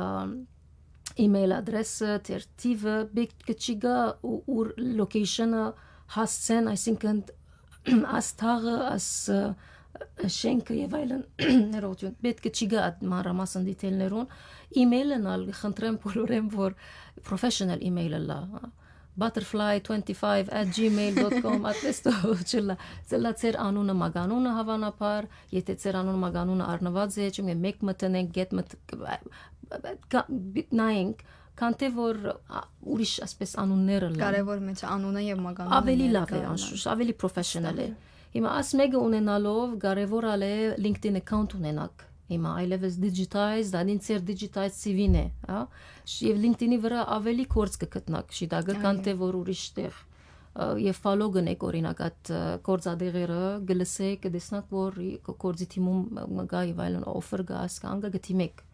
email address-ը, ձեր թիվը, պետք չի գա ու ուր location-ը հասցեն, այսինքն, աս թաղը, աս, ը, շենքը եւ այլն, ներողություն, պետք չի գա այդ մանրամասն detail-ներուն, email-ն ալ խնդրեմ բոլորեն, որ professional email ըլլա, butterfly twenty-five at gmail dot com, այդպես թող չլա, ծլա ձեր անունը, մագանունը հավանաբար, եթե ձեր անունը, մագանունը առնված է, չեմ գիտեմ, մեկ մտնենք, գետ մտ-, կա-, նայենք, քան թե որ, ա, ուրիշ, ասպես, անուններ ըլլան։ Կարևոր մեջ անունը եւ մագանունը Ավելի լավ է, ներկայանալ։ անշուշտ, ավելի professional է։ Ստանալ։ Հիմա աս մեկը ունենալով կարևոր ալ է LinkedIn account ունենաք։ Հիմա այլևս digitized, ադին ձեր digitized C V-ն է, հա? Շ-, եւ LinkedIn-ի վրա ավելի կորց կը գտնաք, շիտակը, քան Այո։ թե որ ուրիշ տեղ, ը, եւ follow կնեք, օրինակ, այդ, ը, գործադեղերը, կը լսեք, կը տեսնաք, որ ի-, կորձի թիմում մը գա եւ այլն, offer կա, ասկան կա, գտիմեք։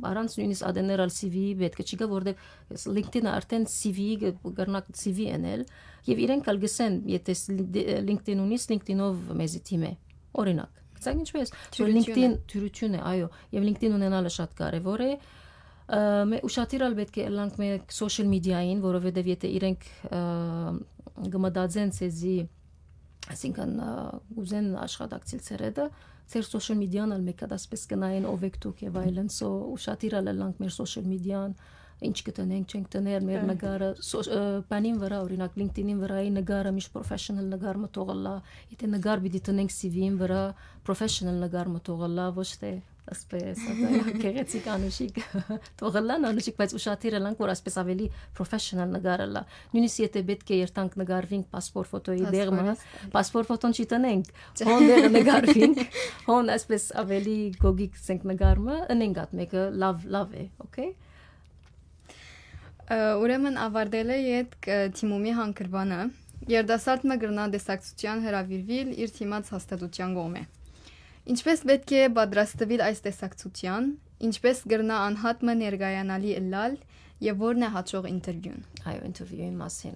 Առանց նույնիսկ ադեներ ալ C V-ի պետք չի գա, որովհետեւ LinkedIn-ը արդեն C V-ի կը-, կրնակ C V էնել, եւ իրենք ալ գսեն, եթե ս-, LinkedIn ունիս, LinkedIn-ով մեզի թիմ է, օրինակ։ Գցեք ինչպես, որ Թյուրություն է։ LinkedIn թյուրություն է, այո, եւ LinkedIn ունենալը շատ կարեւոր է։ Ը, մե-, ուշադիր ալ պետք է ըլլանք մեր social media-ին, որովհետեւ եթե իրենք, ը, կմտածեն ցեզի, այսինքն, ը, ուզեն աշխատակցիլ ձեր հետը, ձեր social media-ն ալ մեկ հատ ասպես կնայեն ով եք դուք եւ այլն, so ուշադիր ալ ըլլանք մեր social media-ն, ինչ կտնենք, չենք տներ, մեր Հը։ նկարը, so-, ը, բանին վրա, օրինակ, LinkedIn-ին վրայի նկարը միշտ professional նկար մը թող ըլլա, եթե նկար պիտի տնենք C V-ին վրա, professional նկար մը թող ըլլա, ոչ թե ասպես, ասա, գեղեցիկ անուշիկ, թող ըլլան անուշիկ, բայց ուշադիր ըլանք, որ ասպես ավելի professional նկար ըլլա։ Նույնիսկ եթե պետք է երթանք նկարվինք passport photo-ի դեղը, Passport-ը։ Passport photo-ն չի տնենք, Չէ։ հոն դեղը նկարվինք, հոն ասպես ավելի գոգիկ սենք նկար մը, ընենք ատ մեկը լավ, լավ է, okay? Ուրեմն, ավարտելէ ետք, ը, դիմումի հանգրուանը, երիտասարդ մը կրնայ տեսակցութեան հրաւիրուիլ իր դիմած հաստատութեան կողմէ։ Ինչպէս պէտք է պատրաստուիլ այս տեսակցութեան, ինչպէս կրնայ անհատ մը ներկայանալի ըլլալ եւ ո՞րն է յաջող ինտերվիուն։ Այո, ինտերվիուի մասին։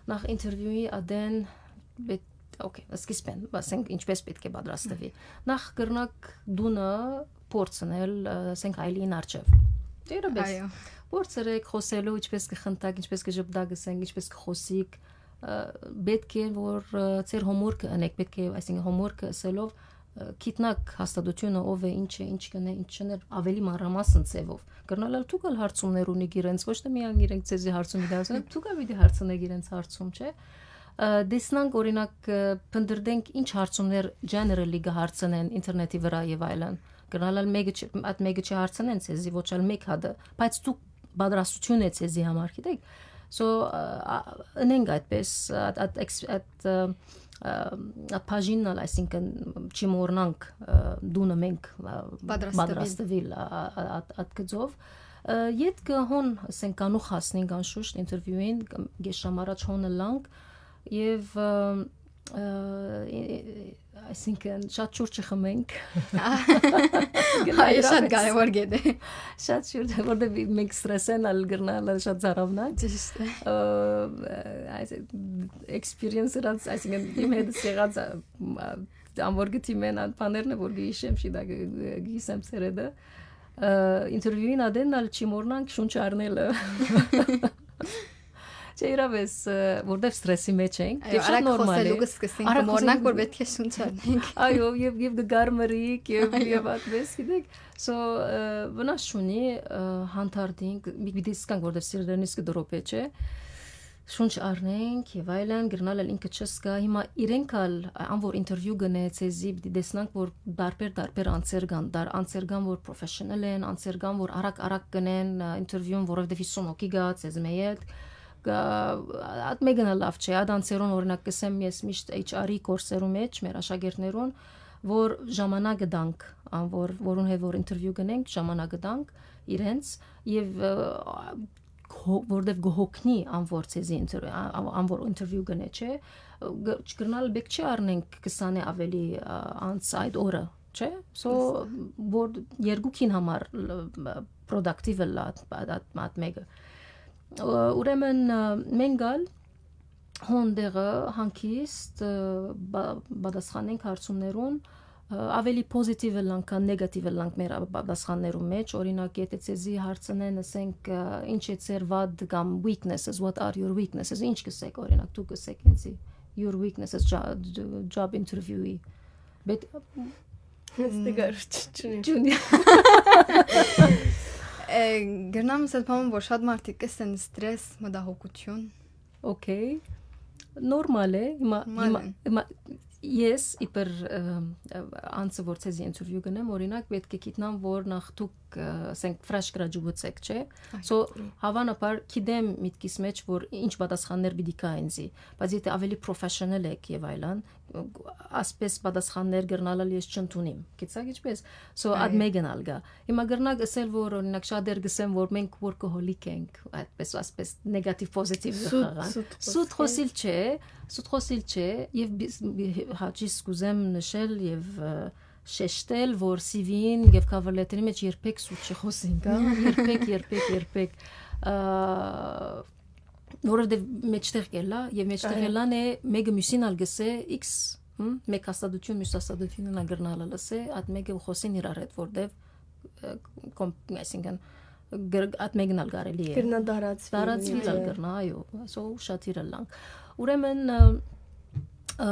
Նախ ինտերվիուի ատեն պէտ-, օքեյ, սկիզբէն, ասենք, ինչպէս պէտք է պատրաստուի։ Նախ կրնաք տունը փորձնել, ը, ասենք, այլին առջեւ։ Դերաբես։ Այո։ Փորձերեք խօսելու, ինչպէս կը խնդաք, ինչպէս կը ժպտաք, ասենք, ինչպէս կը խօսիք, ը, պէտք է, որ, ը, ձեր հոմորքը ընեք, պէտք է, այսինքն, հոմորքը ըսելով, ը, գիտնաք հաստատութիւնը ով է, ինչ է, ինչ կնէ, ինչ չներ, ավելի մանրամասն ձևով։ Կրնալ ալ դուք ալ հարցումներ ունիք իրենց, ոչ թե միայն իրենք ձեզի հարցում պիտի հարցնեն, դուք ալ պիտի հարցնեք իրենց հարցում, չէ՞։ Ը, տեսնանք, օրինակ, ը, փնտրենք ինչ հարցումներ generally կը հարցնեն ինտերնետի վրա եւ այլն։ Կրնալ ալ մեկը չի, այդ մեկը չի հարցնեն ձեզի, ոչ ալ մեկ հատը, բայց դուք պատրաստութիւն է ձեզի համար, գիտեք։ So, ա, ա, ընենք այդպես, այդ, այդ էքս-, այդ, ը, ը, այդ բաժինն ալ, այսինքն, չի մոռնանք, ը, տունը մենք, ը, պատրաստվել։ Պատրաստվել, ա, ա, ա, այդ, այդ գծով։ Ը, ետքը հոն, ասենք, կանուխ հասնենք անշուշտ ինտերվիուին, կամ կես ժամ առաջ հոն ըլլանք, եւ, ը, ը, ը, այսինքն, շատ շուտ չխմենք։ Այո, շատ կարեւոր կետ է։ Շատ շուտ, որտեղ մենք սթրեսեն ալ կրնալ շատ ծարավնանք։ Ճիշդ է։ Ը, այս էքսպերիենսը, այսինքն, իմ հետ եղած, ա, ա, ան որ գտի մեն ան բաներն է, որ գիշեմ շի դա գ-, գ-, գիսեմ ցերեդը։ Ը, ինտերվիուին ատեն ալ չի մոռնանք շունչ առնելը։ Չէ, իրավես, ը, որտեվ սթրեսի մեջ ենք, այո, եւ շատ արագ նորմալ է։ Խոսելու կսկսենք, արագ կմոռնանք, որ խոսելու պետք է շունչ առնենք։ Այո, եւ, եւ կգարմրիկ, եւ, այո, եւ այդպես, գիտեք։ So, ը, վնաս չունի, ը, հանդարտինք, մի, պիտի սկանք, որտեվ սիրտերնից կդրոպե, չէ։ Շունչ առնենք եւ այլն, կրնալ ալ ինքը չսկա։ Հիմա իրենք ալ, ան որ ինտերվիու գնե, ցեզի պիտի տեսնանք, որ տարբեր, տարբեր անձեր կան, դար-, անձեր կան, որ պրոֆեսիոնալ են, անձեր կան, որ արագ, արագ գնեն, ը, ինտերվիուն, որովհետեւ հիսուն հոգի գա, ցեզ մը յետ, գա, այդ մեկն ալ լավ չէ, այդ անձերուն, օրինակ, կսեմ, ես միշտ H R-ի կորսերու մեջ, մեր աշակերտներուն, որ ժամանակը տանք, ան որ, որուն հետ որ ինտերվիու գնենք, ժամանակը տանք իրենց, եւ, ը, հո-, որտեվ կհոգնի ան որ ցեզի ինտեր-, ա-, ա-, ան որ ինտերվիու գնե, չէ, գ-, չկրնալ բեք չի առնենք քսանէ ավելի, ա, անց այդ օրը, չէ, so, որ երկուքին համար productive ըլլայ այդ, այդ, այդ մեկը։ Ուրեմն, ը, մենք ալ հոն դեղը հանգիստ, ը, բա-, պատասխանենք հարցումներուն, ը, ավելի պոզիտիվ ըլլանք, քան նեգատիվ ըլլանք մեր ա-, պատասխաններու մեջ։ Օրինակ, եթե ցեզի հարցնեն, ասենք, ը, «Ինչ է ձեր վատ կամ weaknesses, what are your weaknesses», ինչ կսեք, օրինակ, դուք կսեք ինձի, «Your weaknesses», ջա-, ջ-, job interview-ի։ Բետ-, Ստիգար չունի։ Չունի։ Ը, գրնամ ասել, պարոն, որ շատ մարդիկ կսեն սթրես, մտահոգություն։ Okay. Նորմալ է, հիմա, նորմալ հիմա, է։ Հիմա ես իբր, ը, ը, անձը, որ ցեզի ինտերվիու գնեմ, օրինակ, պետք է գիտնամ, որ նախ դուք, ը, ասենք, fresh graduate եք, չէ՞։ Այո։ So, հավանաբար գիտեմ միտքիս մեջ, որ ինչ պատասխաններ պիտի գա ինձի, բայց եթե ավելի պրոֆեսիոնալ եք եւ այլն, ասպես պատասխաններ կրնալ ալ ես չընդունիմ, գիտցաք ինչպես, so, այդ այո, մեկն ալ գա։ Հիմա կրնակ ասել, որ, օրինակ, շատեր կսեն, որ մենք workaholic ենք, այդպես, ասպես նեգատիվ պոզիտիվ սուտ, խաղան։ Սուտ սուտ խոսել։ Խոսիլ չէ, սուտ խոսիլ չէ, եւ բի-, հաճիս կուզեմ նշել եւ, ը, շեշտել, որ C V-ին եւ cover letter-ի մեջ երբեք սուտ չխոսենք, հա, երբեք, երբեք, երբեք, ը, որովհետեւ մեջտեղ կելա, եւ մեջտեղ այո, ելան է, մեկը մյուսին ալ գսե X, հմ, մեկ հաստատություն, մյուս հաստատությունը ալ կրնալ ալ ասե, այդ մեկը ու խոսին իրար հետ, որտեւ, ը, կոմ-, այսինքն, գր-, այդ մեկն ալ կարելի է։ Կրնա տարածվի, տարածվի ալ, այո, կրնա, այո, so շատ իրար լանք։ Ուրեմն, ը, ը,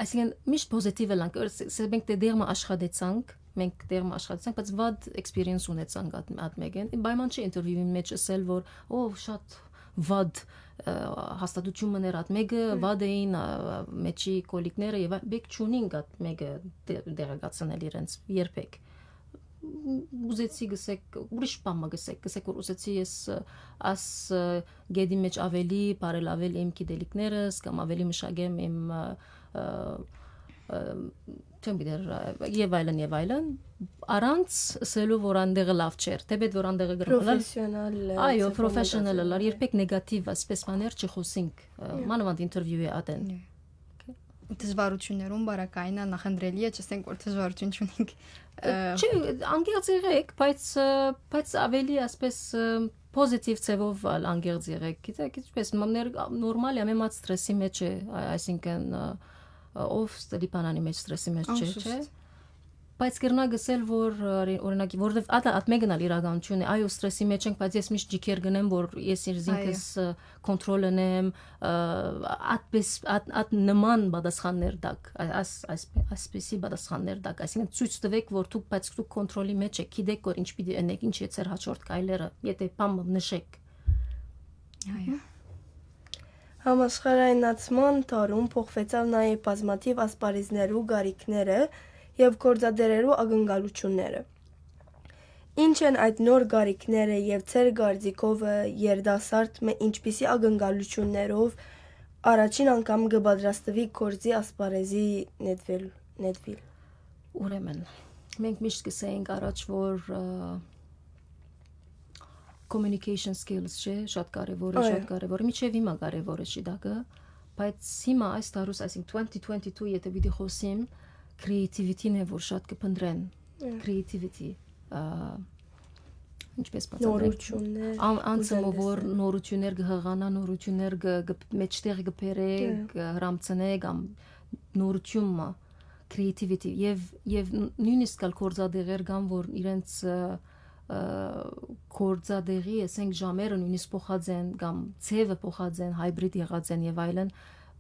այսինքն, միշտ պոզիտիվ ըլանք, ըր-, ս-, ս-, մենք դե դեղը աշխատեցանք, մենք դեղը աշխատեցանք, բայց վատ experience ունեցանք այդ, այդ մեկեն։ Պայման չէ ինտերվիուին մեջ ասել, որ, «Ո, շատ վատ, ը, հաստատություն մներ այդ մեկը, հմ, վատ էին, ը, մեջի կոլիկները», եւ այ-, բեք չունինք այդ մեկը դե-, դեղեկացնել իրենց երբեք։ Ուզեցի գսեք, ուրիշ բան մը գսեք, գսեք, որ ուզեցի ես, ը, աս, ը, գետի մեջ ավելի բարելավել իմ գիտելիքներս կամ ավելի մշակեմ իմ, ը, ը, չեմ գիտեր, ը, եւ այլն, եւ այլն, առանց ըսելու, որ անդեղը լավ չէր, թէպէտ որ անդեղը կրնար ըլլալ, Պրոֆեսիոնալ, ը, այո, ծավալ պրոֆեսիոնալ մտածելն ըլլար, է։ Երբեք նեգատիվ ասպէս բաներ չխոսինք, ը, Նյա։ մանավանդ ինտերվիուի ատեն։ Նյա։ Դժվարություններուն բարակայինը նախընտրելի է, չասենք, որ դժվարություն չունենք, ը, Չէ, անկեղծ եղեք, բայց, ը, բայց ավելի ասպէս, ը, պոզիտիվ ձևով ալ անկեղծ եղեք, գիտեք, ինչպես, մամներ, նորմալ է, ամեն մատ սթրեսի մեջ է, ա-, այսինքն, ը, ը, ով Լիբանանի մեջ սթրեսի մեջ չէ, Անշուշտ։ չէ՞։ Բայց կրնա գսել, որ, ը, օրի-, օրինակ, որովհետև ատը, ատ մեկն ալ իրականություն է, այո, սթրեսի մեջ ենք, բայց ես միշտ ջիքեր գնեմ, որ ես ինքզինքս, Այո։ ը, կոնտրոլ ընեմ, ը, ատպես, ատ, ատ նման պատասխաններ տակ, ա-, աս-, այս-, այսպիսի պատասխաններ տակ, այսինքն ցոյց տվեք, որ դուք, բայց դուք կոնտրոլի մեջ եք, գիտեք, որ ինչ պիտի ընեք, ինչ է ձեր հաջորդ քայլերը, եթե բան մը նշեք։ Այո։ Համաշխարհայնացման դարուն փոխվեցաւ նաեւ բազմաթիվ ասպարեզներու գարիքները եւ գործադերերու ակնկալությունները։ Ինչ են այդ նոր գարիքները եւ ձեր կարծիքովը երիտասարդ մը ինչպիսի ակնկալություններով առաջին անգամ կը պատրաստվի գործի ասպարեզի նետվել, նետվիլ։ Ուրեմն, մենք միշտ կսենք առաջ, որ, ը, communication skills, չէ, շատ կարևոր է, Այո։ շատ կարևոր է, մինչեւ հիմա կարևոր է, չի դա կը, բայց հիմա այս տարուս, այսինքն, twenty twenty-two, եթե պիտի խոսիմ, creativity-ն է, որ շատ կը փնտրեն, Այո։ Creativity, ը, ինչպես բացատրենք։ Նորություններ, Ան-, անցը ուզել մը, որ տեսնել։ նորություններ կը հղանա, նորություններ կը, կը, մեջտեղ կը բերե, Այո։ կը հրամցնե կամ նորություն մը, creativity, եւ, եւ նույնիսկ ալ գործադեղեր կան, որ իրենց, ը, ը, գործադեղի, ասենք, ժամերը նույնիսկ փոխած են կամ ձևը փոխած են, hybrid եղած են եւ այլն,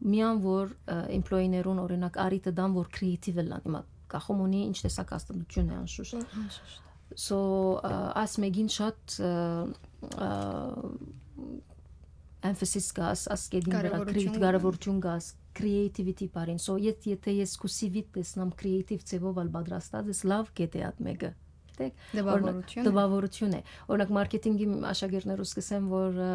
միան որ, ը, employee-ներուն, օրինակ, առիթը տան, որ creative ըլլան, հիմա կախում ունի ինչ տեսակ հաստատություն է, անշուշտ։ Անշուշտ։ So, ը, աս մեկին շատ, ը, ը, emphasis կաս, աս կետին վրա Կարևորություն creative, կա։ կարևորություն կաս, creativity բառին։ So, եթ-, եթե ես քու C V-տ տեսնամ creative ձևով ալ պատրաստած ես, լավ կետ է ատ մեկը։ Գիտեք, Տպավորություն օրինակ, է։ տպավորություն է։ Օրինակ, մարքեթինգի աշակերտներուս կսեմ, որ, ը,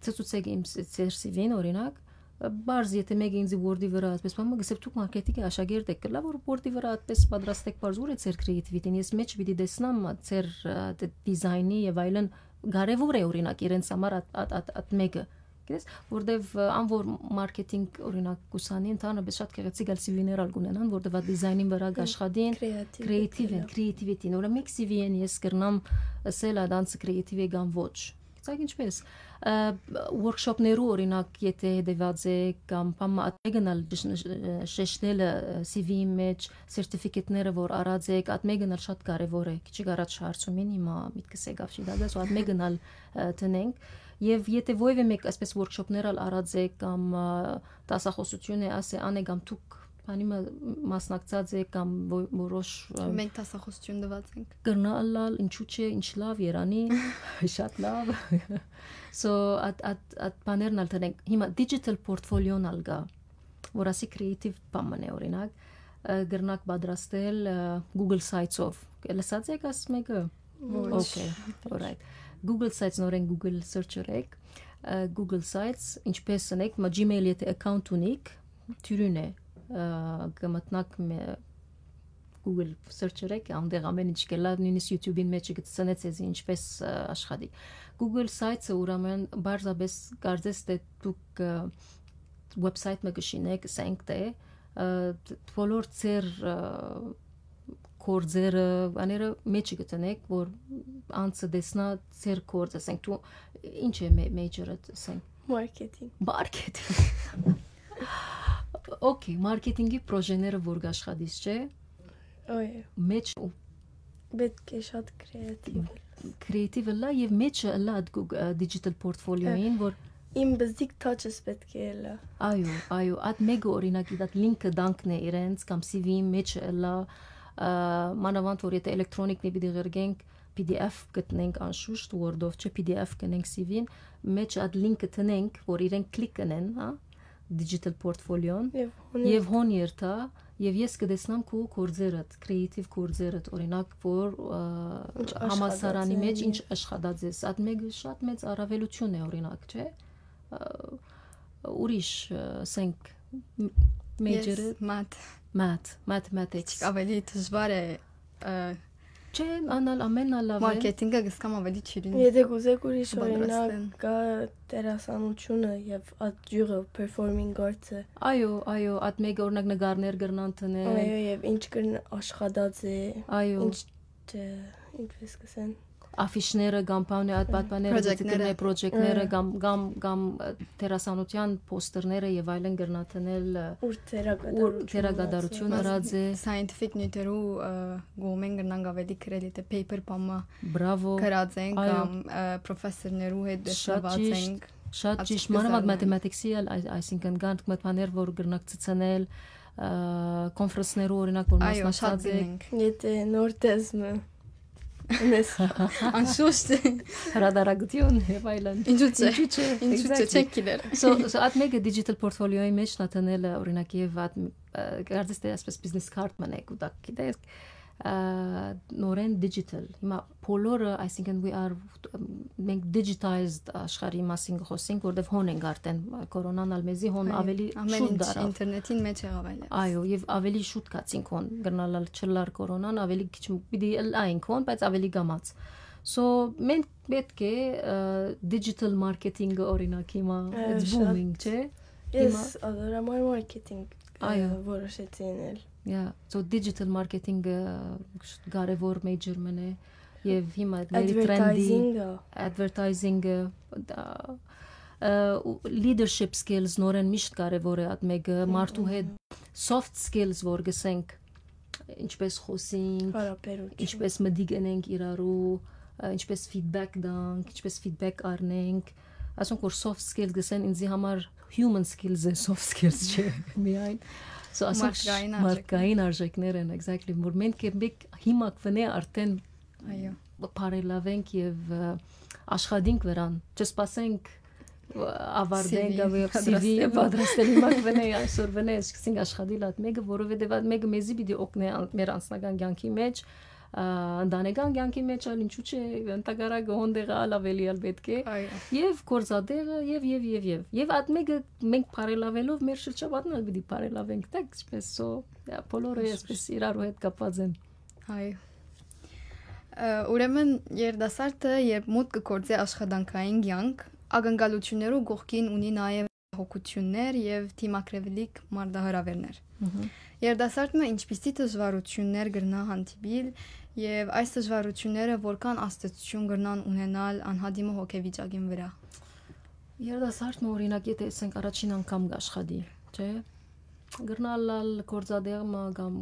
ցցուցեք իմ ս-, ձեր C V-ն, օրինակ, ը, բարձ, եթե մեկը ինձ Word-ի վրա, այսպես բան մը, գսեմ, դուք մարքեթինգի աշակերտ եք, լավ որ Word-ի վրա այդպես պատրաստեք բարձ, ուր է ձեր creativity-ն, ես մեջ պիտի տեսնամ, ա, ձեր, ա, դե-, դիզայնի եւ այլն, կարեւոր է, օրինակ, իրենց համար ատ, ատ, ատ, ատ մեկը, գիտես, որտեվ, ա, ան որ մարքեթինգ, օրինակ, կուսանի, ընդհանրապես շատ գեղեցիկ ալ C V-ներ ալ կունենան, որտեվ ա դիզայնին վրա Հմ, կաշխատին, creative creative-ն, դիպելը։ Creativity-ն, օրինակ, մեկ C V-ին ես կրնամ ասել, ա, դանցը creative է կամ ոչ։ Գիտեք ինչպես, ը, workshop-ներու, օրինակ, եթե հետեւած եք, կամ բան մը ատեգն ալ շ-, շ-, շեշտելը, ը, C V-ի մեջ, certificate-ները որ առած եք, ատ մեկն ալ շատ կարեւոր է, քիչ առաջ հարցումին հիմա միտքս եկավ, չի դա, so ատ մեկն ալ, ը, տնենք, եւ եթե ովեւէ մեկ այսպես workshop-ներ ալ առած եք, կամ, ը, դասախոսություն է, ասե, անե կամ դուք բանի մը մասնակցած եք, կամ ո-, որոշ, ը, Մենք դասախոսություն տված ենք։ կրնա ըլլալ, ինչու՞ չէ, ինչ լավ, երանի, շատ լավ։ So, ատ, ատ, ատ բաներն ալ տնենք։ Հիմա digital portfolio-ն ալ կա, որ ասի creative բան մնե, օրինակ, ը, կրնակ պատրաստել, ը, Google Sites-ով։ Լսած եք աս մեկը։ Ոչ։ Okay, all right. Google Sites, նորեն Google search եք, ը, Google Sites, ինչպես ընեք, մա Gmail եթե account ունիք, թյուրին է, ը, կմտնաք մե-, Google search եք, անդեղ ամեն ինչ կլա, նույնիսկ YouTube-ին մեջ կցնեց էզի ինչպես, ը, աշխատի։ Google Sites-ը ուրեմն պարզապես կարծես թե դուք, ը, website մը կշինեք, ասենք թե, ը, դ-, բոլոր ձեր, ը, գործերը, աները մեջ կտնեք, որ անցը տեսնա ձեր գործ, ասենք դու ինչ է մե-, major-ը, ասենք Marketing։ Marketing։ Okay, մարքեթինգի պրոժեները որ կաշխատիս, չէ՞։ Այո։ Մեջ ու Պետք է շատ creative։ Creative ըլլա եւ մեջը ըլլա այդ Google, ը, digital portfolio-ին, որ Իմ բզդիկ touch-ս պետք է ըլլա։ Այո, այո, այդ մեկը օրինակ, այդ link-ը տանքն է իրենց կամ C V-ի մեջը ըլլա, ը, մանավանդ որ եթե էլեկտրոնիկն է պիտի ղերգենք, P D F գտնենք անշուշտ, Word-ով չէ, P D F գնենք C V-ին, մեջ այդ link-ը տնենք, որ իրենք click կնեն, հա, digital portfolio-ն, Եւ հոնի- եւ հոն երթա, եւ ես կտեսնամ քու գործերդ, creative գործերդ, օրինակ, որ, ը, Ինչ աշխատած համալսարանի են, մեջ ինչ եւ աշխատած ես, այդ մեկը շատ մեծ առավելություն է, օրինակ, չէ՞։ Ը, ուրիշ, ը, ասենք, մ-, Ես major-ը մատ։ Math, mathematics։ Ավելի դժվար է։ Չէ, անալ ամեն ալ լավ է։ Մարքեթինգը գսկամ ավելի չիրին։ Եթե կուզեք ուրիշ օրինակ, կա դերասանությունը եւ այդ յուղը, performing arts-ը։ Այո, այո, այդ մեկը օրինակ նկարներ կրնան տնել։ Այո, եւ ինչ կրն աշխատած է, Այո, ինչ, ինչպես կսեն։ Աֆիշները կամ բանը, այդ պատմանները, Պրոյեկտները։ պրոյեկտները կամ կամ կամ դերասանության պոստերները եւ այլն կրնան տնել։ Ուր թերակատարությունը։ Ուր թերակատարությունը ըրած է։ Scientific նյութերու կողմեն կրնանք ավելի գրել, եթե paper բամը Բրավո։ գրած ենք Այո։ կամ professor-ներու հետ Շատ դեսնված ճիշտ, ենք։ շատ ճիշտ, Ասկսել մանավանդ են։ Մաթեմատիքսի ալ, այս- այսինքն կան մտմաներ, որ կրնակ ցցնել, կոնֆրանսներու օրինակ որ Այո, շատ մասնակցած գին են։ ենք։ Եթե նոր տեսմը ունես։ Անշուշտ։ Հրադարագություն եւ այլն։ Ինչու՞ չէ։ Ինչու՞ չէ։ Ինչու՞ չէ, Exactly. չենք գիտեր։ So, so այդ մեկը digital portfolio-ի մեջ նատանել է օրինակ եւ այդ կարծես թե այսպես business card մնեք ու դա գիտեք, նորեն digital։ Հիմա բոլորը, այսինքն we are, մենք digitized աշխարհի մասին կխոսենք, որտեվ հոն ենք արդեն, կորոնան ալ մեզի հոն ավելի Ամեն շուտ ինչ դարավ։ Ինտերնետին մեջ եղավ այլևս։ Այո, եւ ավելի շուտ կացինք հոն, կրնալ ալ չլար կորոնան, ավելի քիչ պիտի ալ այն կողն, բայց ավելի գամած։ So մենք պետք է digital marketing-ը օրինակ հիմա, it's booming, չէ։ Ես ադորամար marketing Այո։ Որոշեցի ենել։ Yeah, so digital marketing-ը կարևոր major մնե եւ հիմա very trendy Advertising-ը։ Advertising-ը, leadership skills նորեն միշտ կարևոր է, այդ մեկը մարդու հետ, soft skills որ գսենք, ինչպես խոսենք, ինչպես մտիկ ընենք իրարու, ինչպես feedback տանք, ինչպես feedback առնենք, ասոնք որ soft skills գսեն, ինձի համար human skills է, soft skills չէ միայն։ So ասոնք մարդկային արժեքներ են, exactly, որ մենք մենք հիմա կվնե արդեն բարելավենք եւ աշխատենք վրան, չսպասենք ավարտենք, CV CV պատրաստել հիմա կվնե այսօր վնե սկսենք աշխատել այդ մեկը, որովհետեւ այդ մեկը մեզի պիտի օգնե մեր անձնական կյանքի մեջ, ընտանեկան կյանքի մեջ ալ, ինչու՞ չէ, ընդհակառակը հոն դեղը ալ ավելի ալ պետք է։ Եվ գործատեղը, եւ, եւ, եւ, եւ։ Եվ այդ մեկը մենք բարելավելով մեր շրջապատն ալ պիտի բարելավենք, տակ, ինչպես so, yeah, բոլորը այսպես իրարու հետ կապված են։ Այո։ Ուրեմն երիտասարդը, երբ մուտք կգործի աշխատանքային կյանք, ակնկալություններու կողքին ունի նաեւ հոգություններ եւ դիմագրավիլիկ մարտահրավերներ։ Երիտասարդը ինչպիսի դժվարություններ կրնա հանդիպիլ, եւ այս դժվարությունները որքան ազդեցություն կրնան ունենալ անհատի մը հոգեվիճակին վրա։ Երիտասարդը, օրինակ, եթե ասենք առաջին անգամ կաշխատի, չէ՞, կրնալ ալ գործատեղը կամ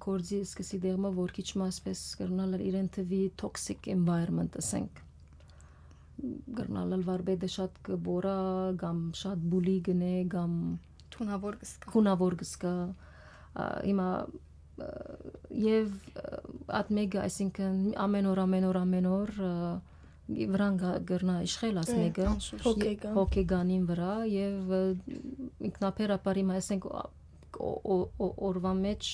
գործի սկսի դեղը, որ քիչ մը ասպես կրնալ ալ իրեն թվի toxic environment, ասենք, կրնալ ալ վարպետը շատ կբորա կամ շատ bully կնե կամ թունավոր կսկա։ Քունավոր կսկա։ Հիմա, և այդ մեկը, այսինքն, ամեն օր, ամեն օր, ամեն օր վրան կրնա իշխել, աս մեկը հոգեգանին վրա, և ինքնաբերաբար հիմա, այսենք, օրվա մեջ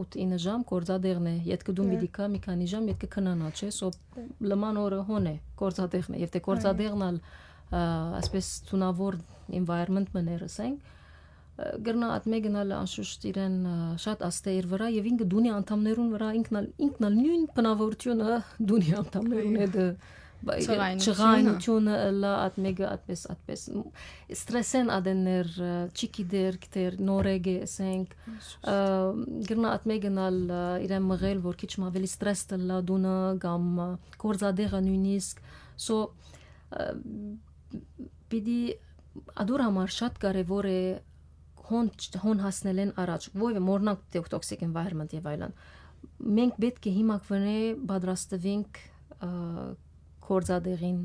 ութ ինը ժամ գործատեղն է, ետքը դուն պիտի գա, մի քանի ժամ ետքը քնանա, չէ, so լման օրը հոն է, գործատեղն է, և թե գործատեղն ալ այսպես թունավոր environment մը ներս ենք, կրնա այդ մեկն ալ անշուշտ իրեն շատ աստե իր վրա, և ինքը դունի անդամներուն վրա ինքն ալ, ինքն ալ նույն բնավորությունը դունի անդամներուն հետ, չղայնությունը ըլլա, այդ մեկը այդպես, այդպես ստրեսեն ադեններ, չի գիտեր, գիտեր, նորեկ է, ասենք, կրնա այդ մեկն ալ իրեն մղել, որ քիչ մը ավելի ստրես ըլլա դունը կամ գործատեղը նույնիսկ, so պիտի ադոր համար շատ կարևոր է հոն, հոն հասնելեն առաջ, ովը մորնանք toxic environment և այլն։ Մենք պետք է հիմա կվնե պատրաստվենք գործատեղին,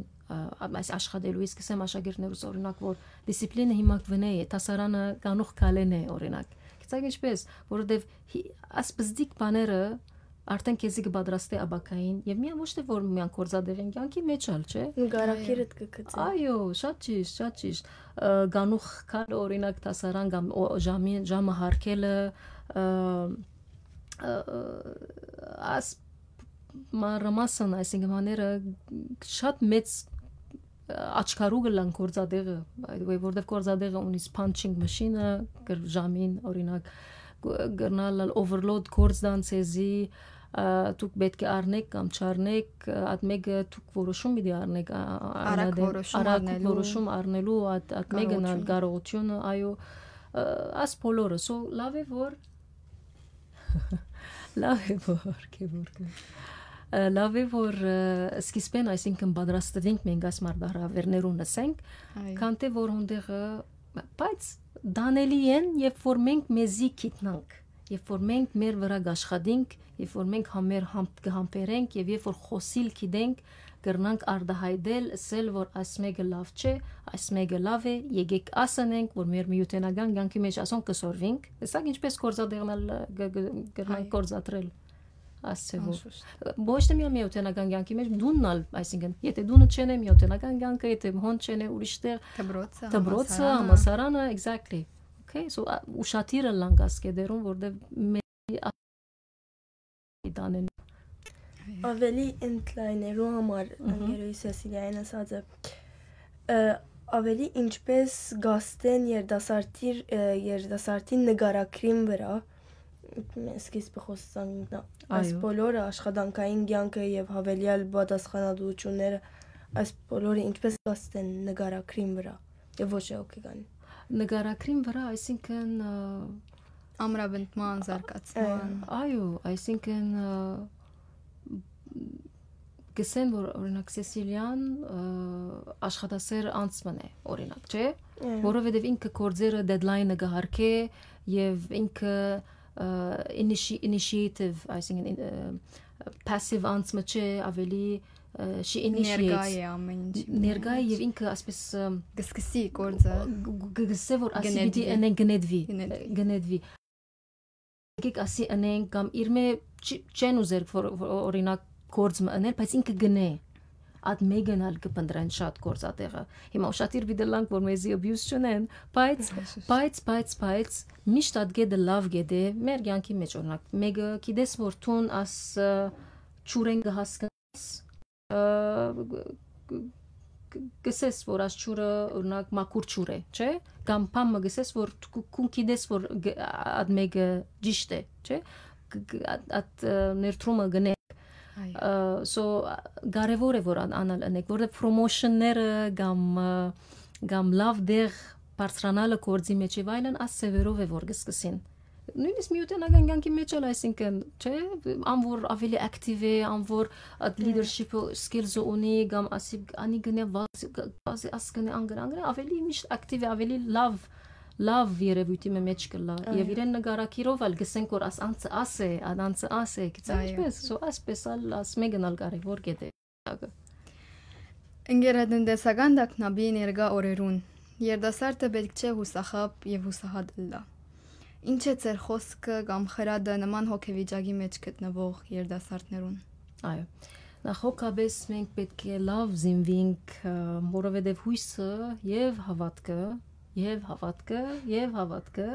այս աշխատելու, իսկ ասեմ աշակերտներուս օրինակ, որ դիսցիպլինը հիմա կվնե է, դասարանը կանուխ կալեն է, օրինակ։ Գիտեք ինչպես, որովհետև ասպզդիկ բաները արդեն քեզի կպատրաստե ապագային, և միան ոչ թե որ միան գործատեղին կյանքի մեջ ալ, չէ։ Նկարագիրդ կգծի։ Այո, շատ ճիշտ, շատ ճիշտ։ Կանուխ կալ օրինակ դասարան կամ ժամի, ժամը հարկելը, աս մանրամասն, այսինքն, բաները շատ մեծ աչքարու կլան գործատեղը, by the way, որտեվ գործատեղը ունի punching machine-ը, ժամին, օրինակ, կրնալ ալ overload գործ տան ձեզի, ա, դուք պէտք է առնեք կամ չառնեք, ա, այդ մէկը դուք որոշում պիտի առնեք, ա, ա, Արագ անադեմ, որոշում արագ առնելու։ որոշում առնելու, այդ, այդ մեկն ալ Կարողությունը։ կարողությունը, այո, ա, աս բոլորը։ So, լավ է, որ լավ է, որ, Գևորգը։ Ա, լավ է, որ, ա, սկիզբէն, այսինքն, պատրաստվենք մենք այս մարտահրաւերներուն, ասենք, Այո։ քան թե որ հոնդեղը, բայց տանելի են, երբ որ մենք մեզի գիտնանք, երբ որ մենք մեր վրայ կաշխատենք, երբ որ մենք համեր-, համ-, կհամբերենք եւ երբ որ խօսիլ գիտենք, կրնանք արտահայտել, ըսել, որ այս մեկը լավ չէ, այս մեկը լավ է, եկեք ասենք, որ մեր միութենական կյանքի մեջ ասոնք կը սորվինք, տեսակ ինչպես գործատեղն ալ, ը, կը, կը, կրնանք Այո։ գործադրել, ասցեւով։ Անշուշտ։ Ոչ թե միայն միութենական կյանքի մեջ, դունն ալ, այսինքն, եթե դունը չեն է, միութենական կյանքը, եթե հոն չեն է, ուրիշ տեղ, Դպրոցը, դպրոցը, համալսարանը։ համալսարանը, exactly. Okay, so, ա, ուշադիր ըլլանք աս կեդերուն, որտեղ մե-, ա-, տանեն։ Այո։ Ավելի ընդլայներու համար, Մհմ։ ընկերոյս Սեսիլիային ասած է, ը, ավելի ինչպես գաստեն երիտասարդի, ը, երիտասարդին նկարագրին վրա, սկիզբը խոսանք, այս Այո։ բոլորը աշխատանքային կյանքը եւ հավելյալ պատասխանատուությունները, այս բոլորը ինչպես գաստեն նկարագրին վրա եւ ոչ է հոգեկան։ Նկարագրին վրա, այսինքն, ը, Ամրապնդման, ը, զարգացման։ այո, այսինքն, ը, կսեն, որ, օրինակ, Սեսիլիան, ը, աշխատասեր անձ մըն է, օրինակ, չէ՞։ Այո։ Որովհետեւ ինքը գործերը deadline-ը կը հարկէ եւ ինքը, ը, initi-, initiative, այսինքն, ին-, ը, passive անձ մը չէ, ավելի, ը, she initiates։ Ներկայ է ամեն ինչի Ներկայ է մեջ։ Եւ ինքը, ասպես, ը, Կսկսի գործը։ գ-, գ-, գսե, որ ասի Գնեդվի։ պիտի ընեն գնեդվի, Գնեդվի։ գնեդվի։ Եկեք ասի ընենք կամ իր մէ չի, չեն ուզեր, որ, որ, օրինակ, գործ մը ընել, բայց ինքը գնե։ Այդ մեկն ալ կը փնտրեն շատ գործատեղը։ Հիմա ուշադիր պիտի լանք, որ մեզի abuse չունեն, բայց, Այո, շուշ։ բայց, բայց, բայց, միշտ այդ գետը լավ գետ է, մեր կյանքի մեջ, օրինակ, մեկը գիտես, որ թուն աս, ը, չուրեն կը հասկանաս, ը, կ-, կ-, կ-, գսես, որ աս չուրը, օրինակ, մաքուր չուր է, չէ՞։ Կամ բան մը գսես, որ դու կու գիտես, որ գ-, այդ մեկը ճիշտ է, չէ՞։ Կ-, կ-, այդ, այդ, ը, ներդրումը գնե։ Այո։ Ը, so, կարևոր է, որ ան-, անալ ընեք, որտեղ promotion-ները կամ, ը, կամ լավ դեղ բարձրանալը գործի մեջ եւ այլն, աս սեւերով է, որ կսկսին։ Նույնիսկ միութենական կյանքի մեջ ալ, այսինքն, չէ՞, ան որ ավելի active է, ան որ այդ Հա։ leadership skills-ը ունի, կամ ասի, անի գնե վազ-, գ-, վազի աս գնե անգր, անգր, ավելի միշտ active է, ավելի լավ, լավ երևույթի մը մեջ կլա։ Այո։ Եւ իրեն նկարակիրով ալ գսենք, որ աս անցը աս է, ան անցը աս է, գիտես Այո։ ինչպես, so, ասպես ալ, աս մեկն ալ կարևոր գետ է։ Ընկերատնտեսական տագնապի ներկա օրերուն երիտասարդը պէտք չէ յուսախաբ եւ յուսահատ ըլլայ։ Ինչ է ձեր խօսքը կամ խրատը նման հոգեվիճակի մեջ գտնուող երիտասարդներուն։ Այո։ Նախ հոգաբես մենք պէտք է լավ զինվինք, ը, որովհետեւ յոյսը եւ հաւատքը, եւ հաւատքը, եւ հաւատքը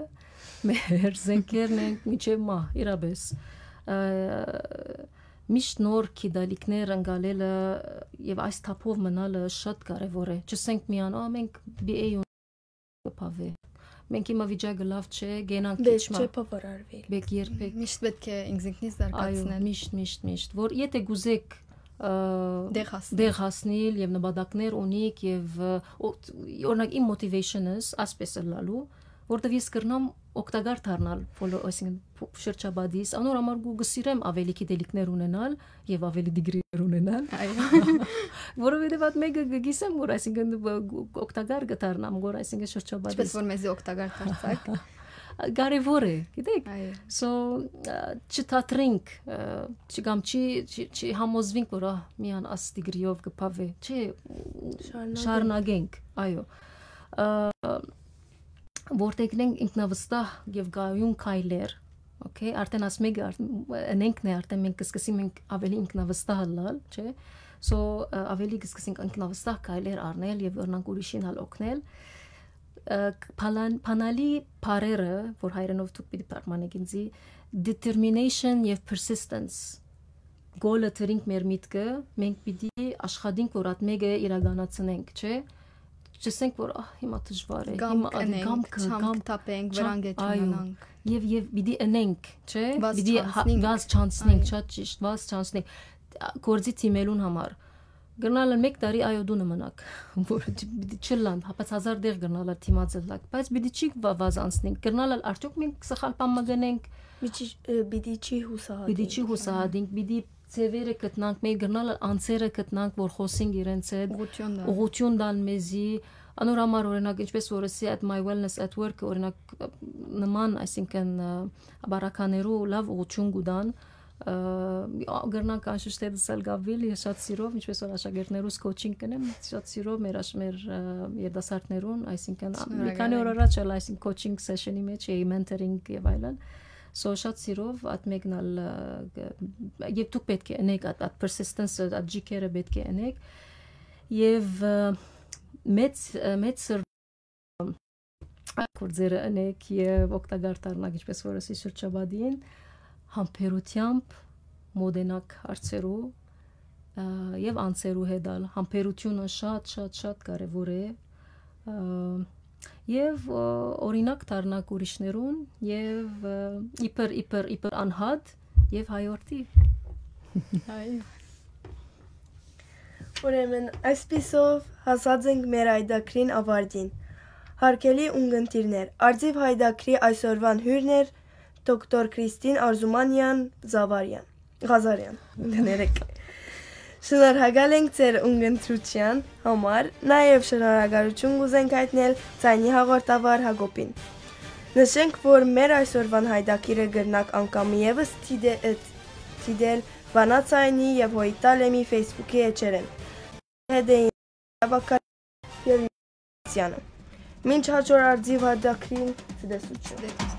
մեր զենքերն են մինչեւ մահ, իրապէս։ Ը, միշտ նոր գիտալիքներ ընկալելը եւ այս թափով մնալը շատ կարեւոր է։ Չսենք միան, «Ա, մենք B A կը բաւէ։ Մենք հիմա վիճակը լավ չէ, գենանք քիչ Պէտք մը»։ Չէ բավարարվել։ Բեք երբեք։ Միշտ պէտք է ինքզինքնից Այո, զարգացնել։ միշտ, միշտ, միշտ։ Որ եթե կուզեք, ը, Դեղ հասնել։ դեղ հասնել եւ նպատակներ ունիք եւ, ը, օ-, օրինակ, իմ motivation-ս ասպես ըլլալու, որտեւ ես կրնամ օգտակար դառնալ բոլոր, այսինքն, փ-, շրջապատիս, անոր համար կու-, կսիրեմ ավելի գիտելիքներ ունենալ եւ ավելի դիգրիներ ունենալ, Այո։ որովհետեւ այդ մեկը կգիսեմ, որ, այսինքն, բ-, գ-, օգտակար կդառնամ, որ, այսինքն, շրջապատիս Ինչպես որ մեզի օգտակար դարձաք։ կարեւոր է, գիտեք։ Այո։ So, ա, չթատրենք, ա, չի-, կամ չի, չի, չի համոզվենք, որ, ա, միան աս դիգրիով կբաւէ։ Չէ, Շարունակենք։ շարունակենք, այո։ Ա, որդեգնենք ինքնավստահ եւ գայուն քայլեր, okay, արդեն աս մեկը արդ-, ընենքն է, արդեն մենք կսկսենք մենք ավելի ինքնավստահ ըլլալ, չէ՞։ So, ա, ավելի կսկսենք ինքնավստահ քայլեր առնել եւ կրնանք ուրիշին ալ օգնել։ Ա, փալան-, փանալի բառերը, որ հայերէնով դուք պիտի թարգմանեք ինձի, determination եւ persistence, գոլը դրինք մեր միտքը, մենք պիտի աշխատենք, որ այդ մեկը իրականացնենք, չէ՞։ չըսենք, որ, «Ահ, հիմա դժուար է, կամք հիմա ադի ընենք, կամքը, չամք կամ-, կտապենք, չամ-», վրան կետ այո, իմանանք։ Եւ, եւ պիտի ընենք, չէ՞։ Վազ պիտի հա-, չանցնենք։ Վազ չանցնենք, Այո։ շատ ճիշտ, վազ չանցնենք։ Գործի թիմելուն համար։ Կրնալ ալ մեկ տարի այո դունը մնաք, որ չ-, պիտի չլան, հա, բայց հազար դեղ կրնալ ալ թիմած ըլլաք, բայց պիտի չի վա-, վազ անցնենք, կրնալ ալ արդյոք մենք սխալ բան մը գնենք, Պիտի, ը, պիտի չի հուսահատենք։ Պիտի չի հուսահատենք, պիտի ձևերը գտնանք, մենք կրնալ ալ անձերը գտնանք, որ խոսենք իրենց հետ, Ուղղություն տան։ Ուղղություն տան մեզի, անոր համար, օրինակ, ինչպես որ ըսի այդ My Wellness at Work, օրինակ, նման, այսինքն, ը, բարականերու լավ ուղղություն կու տան, ը, կրնանք անշուշտ հետս ալ գավել, ես շատ սիրով, ինչպես որ աշակերտներուս coaching կնեմ, շատ սիրով մեր աշ-, մեր, ը, երիտասարդներուն, այսինքն, ա, մի քանի օր Շնորհակալ ենք։ Առաջ ալ, այսինքն, coaching session-ի մեջ էի, mentoring եւ այլն։ So, շատ սիրով այդ մեկն ալ, ը, գ-, եւ դուք պէտք է ընեք այդ, այդ persistence, այդ ջիքերը պէտք է ընեք։ Եւ, ը, մեծ, ը, մեծ սր-, այդ գործերը ընեք եւ օգտակար դառնաք, ինչպես որ ասի շրջապատին, համբերությամբ մոտենաք հարցերու, ը, եւ անձերու հետ ալ։ Համբերությունը շատ, շատ, շատ կարեւոր է, ը, եւ, ը, օրինակ դառնաք ուրիշներուն եւ, ը, իբր, իբր, իբր անհատ եւ հայորդի։ Այո։ Ուրեմն, այսպիսով հասած ենք մեր հայդակրին ավարտին։ Հարգելի ունգընտիրներ, Արծիվ հայդակրի այսօրվան հյուրն էր դոկտոր Քրիստին Արզումանյան Զավարյան, Ղազարյան, կներեք։ Շնորհակալ ենք ձեր ունգընտրության համար, նաեւ շնորհակալություն կուզենք հայտնել ձայնի հաղորդավար Հակոբին։ Նշենք, որ մեր այսօրվան հայդակիրը կրնաք անգամ եւս դիտե-, դիտել Վանաձայնի եւ Հոյտալեմի Facebook-ի էջերէն։ Հետ էին Աբակար եւ Սյանը։ Մինչ հաջորդ Արծիվ հայդակրին, ցտեսություն։